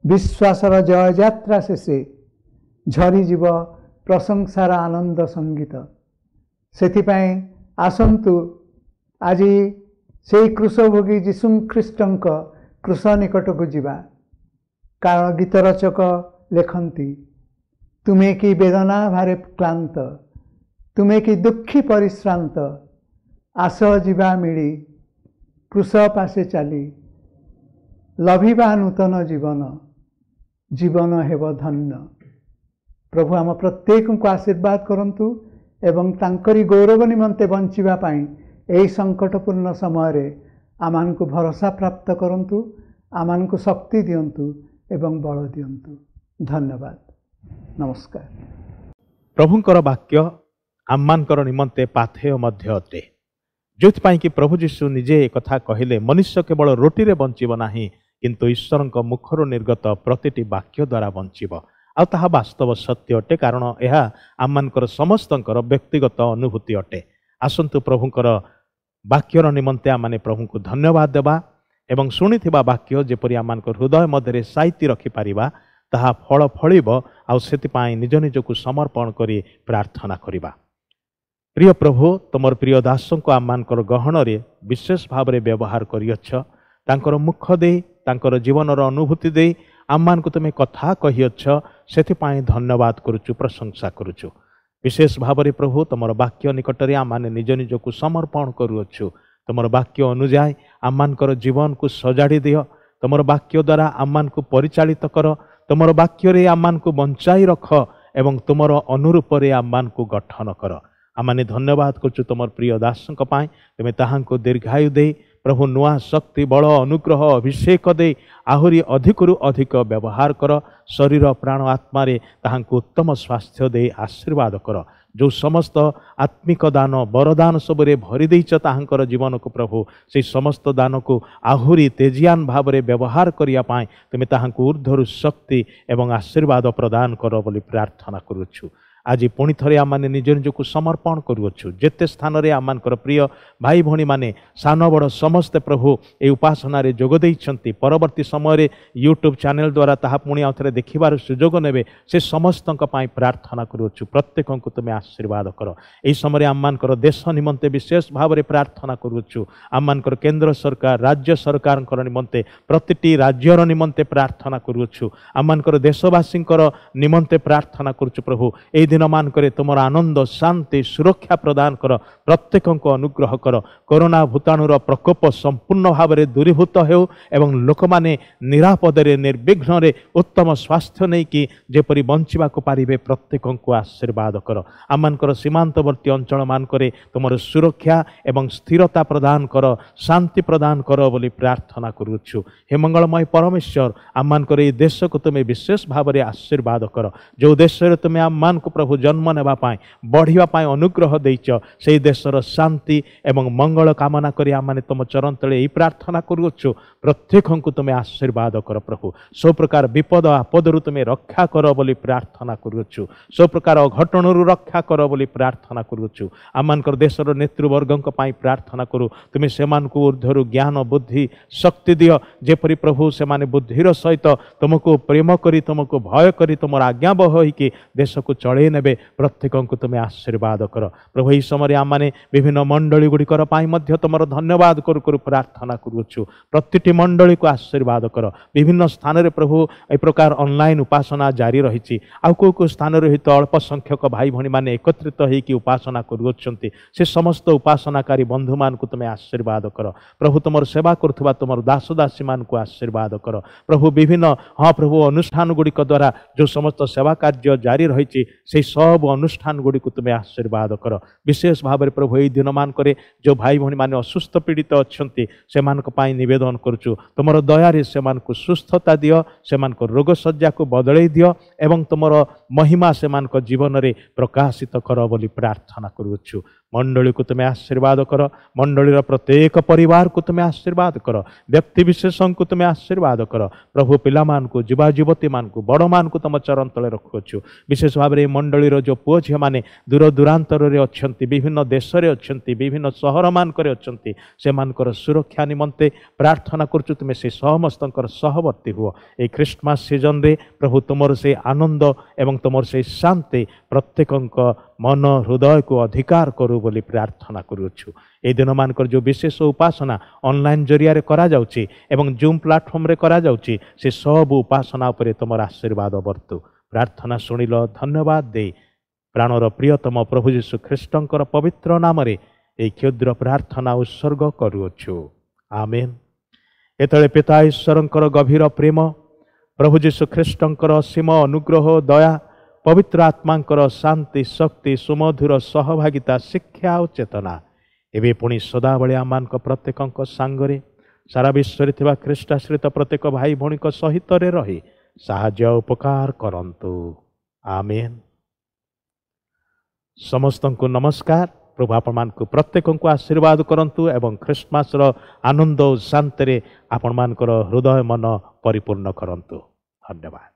ବିଶ୍ୱାସର ଜୟଯାତ୍ରା ଶେଷେ ଝରିଯିବ ପ୍ରଶଂସାର ଆନନ୍ଦ ସଙ୍ଗୀତ। ସେଥିପାଇଁ ଆସନ୍ତୁ ଆଜି ସେଇ କ୍ରୁଶଭୋଗୀ ଯୀଶୁ ଖ୍ରୀଷ୍ଟଙ୍କ କ୍ରୁଶ ନିକଟକୁ ଯିବା। କାରଣ ଗୀତ ରଚକ ଲେଖନ୍ତି, ତୁମେ କି ବେଦନା ଭାରେ କ୍ଳାନ୍ତ, ତୁମେ କି ଦୁଃଖୀ ପରିଶ୍ରାନ୍ତ, ଆସ ଯିବା ମିଳି କ୍ରୁଶ ପାଶେ ଚାଲି, ଲଭିବା ନୂତନ ଜୀବନ, ଜୀବନ ହେବ ଧନ୍ୟ। ପ୍ରଭୁ ଆମ ପ୍ରତ୍ୟେକଙ୍କୁ ଆଶୀର୍ବାଦ କରନ୍ତୁ ଏବଂ ତାଙ୍କରି ଗୌରବ ନିମନ୍ତେ ବଞ୍ଚିବା ପାଇଁ ଏହି ସଙ୍କଟପୂର୍ଣ୍ଣ ସମୟରେ ଆମମାନଙ୍କୁ ଭରସା ପ୍ରାପ୍ତ କରନ୍ତୁ, ଆମମାନଙ୍କୁ ଶକ୍ତି ଦିଅନ୍ତୁ ଏବଂ ବଳ ଦିଅନ୍ତୁ। ଧନ୍ୟବାଦ, ନମସ୍କାର। ପ୍ରଭୁଙ୍କର ବାକ୍ୟ ଆମମାନଙ୍କର ନିମନ୍ତେ ପାଥେୟ ମଧ୍ୟ ଅଟେ, ଯେଉଁଥିପାଇଁ କି ପ୍ରଭୁ ଯୀଶୁ ନିଜେ ଏକଥା କହିଲେ, ମନୁଷ୍ୟ କେବଳ ରୋଟିରେ ବଞ୍ଚିବ ନାହିଁ, କିନ୍ତୁ ଈଶ୍ୱରଙ୍କ ମୁଖରୁ ନିର୍ଗତ ପ୍ରତିଟି ବାକ୍ୟ ଦ୍ୱାରା ବଞ୍ଚିବ। ଆଉ ତାହା ବାସ୍ତବ ସତ୍ୟ ଅଟେ, କାରଣ ଏହା ଆମମାନଙ୍କର ସମସ୍ତଙ୍କର ବ୍ୟକ୍ତିଗତ ଅନୁଭୂତି ଅଟେ। ଆସନ୍ତୁ ପ୍ରଭୁଙ୍କର ବାକ୍ୟର ନିମନ୍ତେ ଆମମାନେ ପ୍ରଭୁଙ୍କୁ ଧନ୍ୟବାଦ ଦେବା ଏବଂ ଶୁଣିଥିବା ବାକ୍ୟ ଯେପରି ଆମମାନଙ୍କ ହୃଦୟ ମଧ୍ୟରେ ସାଇତି ରଖିପାରିବା, ତାହା ଫଳ ଫଳିବ। ଆଉ ସେଥିପାଇଁ ନିଜ ନିଜକୁ ସମର୍ପଣ କରି ପ୍ରାର୍ଥନା କରିବା। ପ୍ରିୟ ପ୍ରଭୁ, ତୁମର ପ୍ରିୟ ଦାସଙ୍କୁ ଆମମାନଙ୍କର ଗହଣରେ ବିଶେଷ ଭାବରେ ବ୍ୟବହାର କରିଅଛ। ତାଙ୍କର ମୁଖ ଦେଇ, ତାଙ୍କର ଜୀବନର ଅନୁଭୂତି ଦେଇ ଆମମାନଙ୍କୁ ତୁମେ କଥା କହିଅଛ, ସେଥିପାଇଁ ଧନ୍ୟବାଦ କରୁଛୁ, ପ୍ରଶଂସା କରୁଛୁ। ବିଶେଷ ଭାବରେ ପ୍ରଭୁ, ତୁମର ବାକ୍ୟ ନିକଟରେ ଆମମାନେ ନିଜ ନିଜକୁ ସମର୍ପଣ କରୁଅଛୁ। ତୁମର ବାକ୍ୟ ଅନୁଯାୟୀ ଆମମାନଙ୍କର ଜୀବନକୁ ସଜାଡ଼ି ଦିଅ। ତୁମର ବାକ୍ୟ ଦ୍ୱାରା ଆମମାନଙ୍କୁ ପରିଚାଳିତ କର। ତୁମର ବାକ୍ୟରେ ଆମମାନଙ୍କୁ ବଞ୍ଚାଇ ରଖ ଏବଂ ତୁମର ଅନୁରୂପରେ ଆମମାନଙ୍କୁ ଗଠନ କର। ଆମମାନେ ଧନ୍ୟବାଦ କରୁଛୁ ତୁମର ପ୍ରିୟ ଦାସଙ୍କ ପାଇଁ। ତୁମେ ତାହାଙ୍କୁ ଦୀର୍ଘାୟୁ ଦେଇ ପ୍ରଭୁ ନୂଆ ଶକ୍ତି, ବଳ, ଅନୁଗ୍ରହ, ଅଭିଷେକ ଦେଇ ଆହୁରି ଅଧିକରୁ ଅଧିକ ବ୍ୟବହାର କର। ଶରୀର, ପ୍ରାଣ, ଆତ୍ମାରେ ତାହାଙ୍କୁ ଉତ୍ତମ ସ୍ୱାସ୍ଥ୍ୟ ଦେଇ ଆଶୀର୍ବାଦ କର। ଯେଉଁ ସମସ୍ତ ଆତ୍ମିକ ଦାନ, ବରଦାନ ସବୁରେ ଭରି ଦେଇଛ ତାହାଙ୍କର ଜୀବନକୁ ପ୍ରଭୁ, ସେଇ ସମସ୍ତ ଦାନକୁ ଆହୁରି ତେଜିଆନ ଭାବରେ ବ୍ୟବହାର କରିବା ପାଇଁ ତୁମେ ତାହାଙ୍କୁ ଉର୍ଦ୍ଧ୍ୱରୁ ଶକ୍ତି ଏବଂ ଆଶୀର୍ବାଦ ପ୍ରଦାନ କର ବୋଲି ପ୍ରାର୍ଥନା କରୁଅଛୁ। ଆଜି ପୁଣି ଥରେ ଆମମାନେ ନିଜ ନିଜକୁ ସମର୍ପଣ କରୁଅଛୁ। ଯେତେ ସ୍ଥାନରେ ଆମମାନଙ୍କର ପ୍ରିୟ ଭାଇ ଭଉଣୀମାନେ, ସାନ ବଡ଼ ସମସ୍ତେ ପ୍ରଭୁ ଏହି ଉପାସନାରେ ଯୋଗ ଦେଇଛନ୍ତି, ପରବର୍ତ୍ତୀ ସମୟରେ ୟୁଟ୍ୟୁବ୍ ଚ୍ୟାନେଲ୍ ଦ୍ୱାରା ତାହା ପୁଣି ଆଉ ଥରେ ଦେଖିବାର ସୁଯୋଗ ନେବେ, ସେ ସମସ୍ତଙ୍କ ପାଇଁ ପ୍ରାର୍ଥନା କରୁଅଛୁ। ପ୍ରତ୍ୟେକଙ୍କୁ ତୁମେ ଆଶୀର୍ବାଦ କର। ଏହି ସମୟରେ ଆମମାନଙ୍କର ଦେଶ ନିମନ୍ତେ ବିଶେଷ ଭାବରେ ପ୍ରାର୍ଥନା କରୁଅଛୁ। ଆମମାନଙ୍କର କେନ୍ଦ୍ର ସରକାର, ରାଜ୍ୟ ସରକାରଙ୍କର ନିମନ୍ତେ, ପ୍ରତିଟି ରାଜ୍ୟର ନିମନ୍ତେ ପ୍ରାର୍ଥନା କରୁଅଛୁ। ଆମମାନଙ୍କର ଦେଶବାସୀଙ୍କର ନିମନ୍ତେ ପ୍ରାର୍ଥନା କରୁଛୁ ପ୍ରଭୁ। ଏହି ଦିନମାନଙ୍କରେ ତୁମର ଆନନ୍ଦ, ଶାନ୍ତି, ସୁରକ୍ଷା ପ୍ରଦାନ କର। ପ୍ରତ୍ୟେକଙ୍କୁ ଅନୁଗ୍ରହ କର। କରୋନା ଭୂତାଣୁର ପ୍ରକୋପ ସମ୍ପୂର୍ଣ୍ଣ ଭାବରେ ଦୂରୀଭୂତ ହେଉ ଏବଂ ଲୋକମାନେ ନିରାପଦରେ, ନିର୍ବିଘ୍ନରେ ଉତ୍ତମ ସ୍ୱାସ୍ଥ୍ୟ ନେଇକି ଯେପରି ବଞ୍ଚିବାକୁ ପାରିବେ, ପ୍ରତ୍ୟେକଙ୍କୁ ଆଶୀର୍ବାଦ କର। ଆମମାନଙ୍କର ସୀମାନ୍ତବର୍ତ୍ତୀ ଅଞ୍ଚଳମାନଙ୍କରେ ତୁମର ସୁରକ୍ଷା ଏବଂ ସ୍ଥିରତା ପ୍ରଦାନ କର, ଶାନ୍ତି ପ୍ରଦାନ କର ବୋଲି ପ୍ରାର୍ଥନା କରୁଅଛୁ। ହେ ମଙ୍ଗଳମୟ ପରମେଶ୍ୱର, ଆମମାନଙ୍କର ଏହି ଦେଶକୁ ତୁମେ ବିଶେଷ ଭାବରେ ଆଶୀର୍ବାଦ କର। ଯେଉଁ ଦେଶରେ ତୁମେ ଆମମାନଙ୍କୁ ପ୍ରଭୁ ଜନ୍ମ ନେବା ପାଇଁ, ବଢ଼ିବା ପାଇଁ ଅନୁଗ୍ରହ ଦେଇଛ, ସେହି ଦେଶର ଶାନ୍ତି ଏବଂ ମଙ୍ଗଳ କାମନା କରି ଆମମାନେ ତୁମ ଚରଣ ତଳେ ଏହି ପ୍ରାର୍ଥନା କରୁଅଛୁ। ପ୍ରତ୍ୟେକଙ୍କୁ ତୁମେ ଆଶୀର୍ବାଦ କର ପ୍ରଭୁ। ସବୁ ପ୍ରକାର ବିପଦ ଆପଦରୁ ତୁମେ ରକ୍ଷା କର ବୋଲି ପ୍ରାର୍ଥନା କରୁଅଛୁ। ସବୁ ପ୍ରକାର ଅଘଟଣରୁ ରକ୍ଷା କର ବୋଲି ପ୍ରାର୍ଥନା କରୁଅଛୁ। ଆମମାନଙ୍କର ଦେଶର ନେତୃବର୍ଗଙ୍କ ପାଇଁ ପ୍ରାର୍ଥନା କରୁ। ତୁମେ ସେମାନଙ୍କୁ ଉର୍ଦ୍ଧ୍ୱରୁ ଜ୍ଞାନ, ବୁଦ୍ଧି, ଶକ୍ତି ଦିଅ, ଯେପରି ପ୍ରଭୁ ସେମାନେ ବୁଦ୍ଧିର ସହିତ ତୁମକୁ ପ୍ରେମ କରି, ତୁମକୁ ଭୟ କରି, ତୁମର ଆଜ୍ଞାବହ ହୋଇକି ଦେଶକୁ ଚଳେଇ ନେବେ। ପ୍ରତ୍ୟେକଙ୍କୁ ତୁମେ ଆଶୀର୍ବାଦ କର ପ୍ରଭୁ। ଏହି ସମୟରେ ଆମମାନେ ବିଭିନ୍ନ ମଣ୍ଡଳୀ ଗୁଡ଼ିକର ପାଇଁ ମଧ୍ୟ ତୁମର ଧନ୍ୟବାଦ କରୁ କରୁ ପ୍ରାର୍ଥନା କରୁଅଛୁ। ପ୍ରତିଟି ମଣ୍ଡଳୀକୁ ଆଶୀର୍ବାଦ କର। ବିଭିନ୍ନ ସ୍ଥାନରେ ପ୍ରଭୁ ଏ ପ୍ରକାର ଅନଲାଇନ୍ ଉପାସନା ଜାରି ରହିଛି। ଆଉ କେଉଁ କେଉଁ ସ୍ଥାନରେ ହୁଏତ ଅଳ୍ପ ସଂଖ୍ୟକ ଭାଇ ଭଉଣୀମାନେ ଏକତ୍ରିତ ହେଇକି ଉପାସନା କରୁଅଛନ୍ତି। ସେ ସମସ୍ତ ଉପାସନାକାରୀ ବନ୍ଧୁମାନଙ୍କୁ ତୁମେ ଆଶୀର୍ବାଦ କର ପ୍ରଭୁ। ତୁମର ସେବା କରୁଥିବା ତୁମର ଦାସ ଦାସୀମାନଙ୍କୁ ଆଶୀର୍ବାଦ କର ପ୍ରଭୁ। ବିଭିନ୍ନ ହଁ ପ୍ରଭୁ ଅନୁଷ୍ଠାନ ଗୁଡ଼ିକ ଦ୍ୱାରା ଯେଉଁ ସମସ୍ତ ସେବା କାର୍ଯ୍ୟ ଜାରି ରହିଛି, ସେଇ ସବୁ ଅନୁଷ୍ଠାନ ଗୁଡ଼ିକୁ ତୁମେ ଆଶୀର୍ବାଦ କର। ବିଶେଷ ଭାବରେ ପ୍ରଭୁ, ଏହି ଦିନମାନଙ୍କରେ ଯେଉଁ ଭାଇ ଭଉଣୀମାନେ ଅସୁସ୍ଥ ପୀଡ଼ିତ ଅଛନ୍ତି, ସେମାନଙ୍କ ପାଇଁ ନିବେଦନ କରୁଛୁ। ତୁମର ଦୟାରେ ସେମାନଙ୍କୁ ସୁସ୍ଥତା ଦିଅ, ସେମାନଙ୍କ ରୋଗ ଶଯ୍ୟାକୁ ବଦଳେଇ ଦିଅ ଏବଂ ତୁମର ମହିମା ସେମାନଙ୍କ ଜୀବନରେ ପ୍ରକାଶିତ କର ବୋଲି ପ୍ରାର୍ଥନା କରୁଅଛୁ। ମଣ୍ଡଳୀକୁ ତୁମେ ଆଶୀର୍ବାଦ କର, ମଣ୍ଡଳୀର ପ୍ରତ୍ୟେକ ପରିବାରକୁ ତୁମେ ଆଶୀର୍ବାଦ କର, ବ୍ୟକ୍ତିବିଶେଷଙ୍କୁ ତୁମେ ଆଶୀର୍ବାଦ କର। ପ୍ରଭୁ, ପିଲାମାନଙ୍କୁ, ଯୁବା ଯୁବତୀମାନଙ୍କୁ, ବଡ଼ମାନଙ୍କୁ ତୁମ ଚରଣ ତଳେ ରଖୁଅଛୁ। ବିଶେଷ ଭାବରେ ଏହି ମଣ୍ଡଳୀର ଯେଉଁ ପୁଅ ଝିଅମାନେ ଦୂର ଦୂରାନ୍ତରରେ ଅଛନ୍ତି, ବିଭିନ୍ନ ଦେଶରେ ଅଛନ୍ତି, ବିଭିନ୍ନ ସହରମାନଙ୍କରେ ଅଛନ୍ତି, ସେମାନଙ୍କର ସୁରକ୍ଷା ନିମନ୍ତେ ପ୍ରାର୍ଥନା କରୁଛୁ। ତୁମେ ସେ ସମସ୍ତଙ୍କର ସହବର୍ତ୍ତୀ ହୁଅ। ଏହି ଖ୍ରୀଷ୍ଟମାସ ସିଜନରେ ପ୍ରଭୁ, ତୁମର ସେଇ ଆନନ୍ଦ ଏବଂ ତୁମର ସେଇ ଶାନ୍ତି ପ୍ରତ୍ୟେକଙ୍କ ମନ ହୃଦୟକୁ ଅଧିକାର କରୁ ବୋଲି ପ୍ରାର୍ଥନା କରୁଅଛୁ। ଏହି ଦିନମାନଙ୍କର ଯେଉଁ ବିଶେଷ ଉପାସନା ଅନଲାଇନ୍ ଜରିଆରେ କରାଯାଉଛି ଏବଂ ଜୁମ୍ ପ୍ଲାଟଫର୍ମରେ କରାଯାଉଛି, ସେ ସବୁ ଉପାସନା ଉପରେ ତୁମର ଆଶୀର୍ବାଦ ବର୍ତ୍ତୁ। ପ୍ରାର୍ଥନା ଶୁଣିଲ, ଧନ୍ୟବାଦ ଦେଇ ପ୍ରାଣର ପ୍ରିୟତମ ପ୍ରଭୁ ଯୀଶୁ ଖ୍ରୀଷ୍ଟଙ୍କର ପବିତ୍ର ନାମରେ ଏହି କ୍ଷୁଦ୍ର ପ୍ରାର୍ଥନା ଉତ୍ସର୍ଗ କରୁଅଛୁ, ଆମେନ୍। ଏତେବେଳେ ପିତା ଈଶ୍ୱରଙ୍କର ଗଭୀର ପ୍ରେମ, ପ୍ରଭୁ ଯୀଶୁ ଖ୍ରୀଷ୍ଟଙ୍କର ଅସୀମ ଅନୁଗ୍ରହ ଦୟା, ପବିତ୍ର ଆତ୍ମାଙ୍କର ଶାନ୍ତି, ଶକ୍ତି, ସୁମଧୁର ସହଭାଗିତା, ଶିକ୍ଷା ଓ ଚେତନା ଏବେ ପୁଣି ସଦାବେଳେ ଆମମାନଙ୍କ ପ୍ରତ୍ୟେକଙ୍କ ସାଙ୍ଗରେ, ସାରା ବିଶ୍ୱରେ ଥିବା ଖ୍ରୀଷ୍ଟାଶ୍ରିତ ପ୍ରତ୍ୟେକ ଭାଇ ଭଉଣୀଙ୍କ ସହିତରେ ରହି ସାହାଯ୍ୟ ଉପକାର କରନ୍ତୁ। ଆମେନ୍। ସମସ୍ତଙ୍କୁ ନମସ୍କାର। ପ୍ରଭୁ ଆପଣମାନଙ୍କୁ ପ୍ରତ୍ୟେକଙ୍କୁ ଆଶୀର୍ବାଦ କରନ୍ତୁ ଏବଂ ଖ୍ରୀଷ୍ଟମାସର ଆନନ୍ଦ ଓ ଶାନ୍ତିରେ ଆପଣମାନଙ୍କର ହୃଦୟ ମନ ପରିପୂର୍ଣ୍ଣ କରନ୍ତୁ। ଧନ୍ୟବାଦ।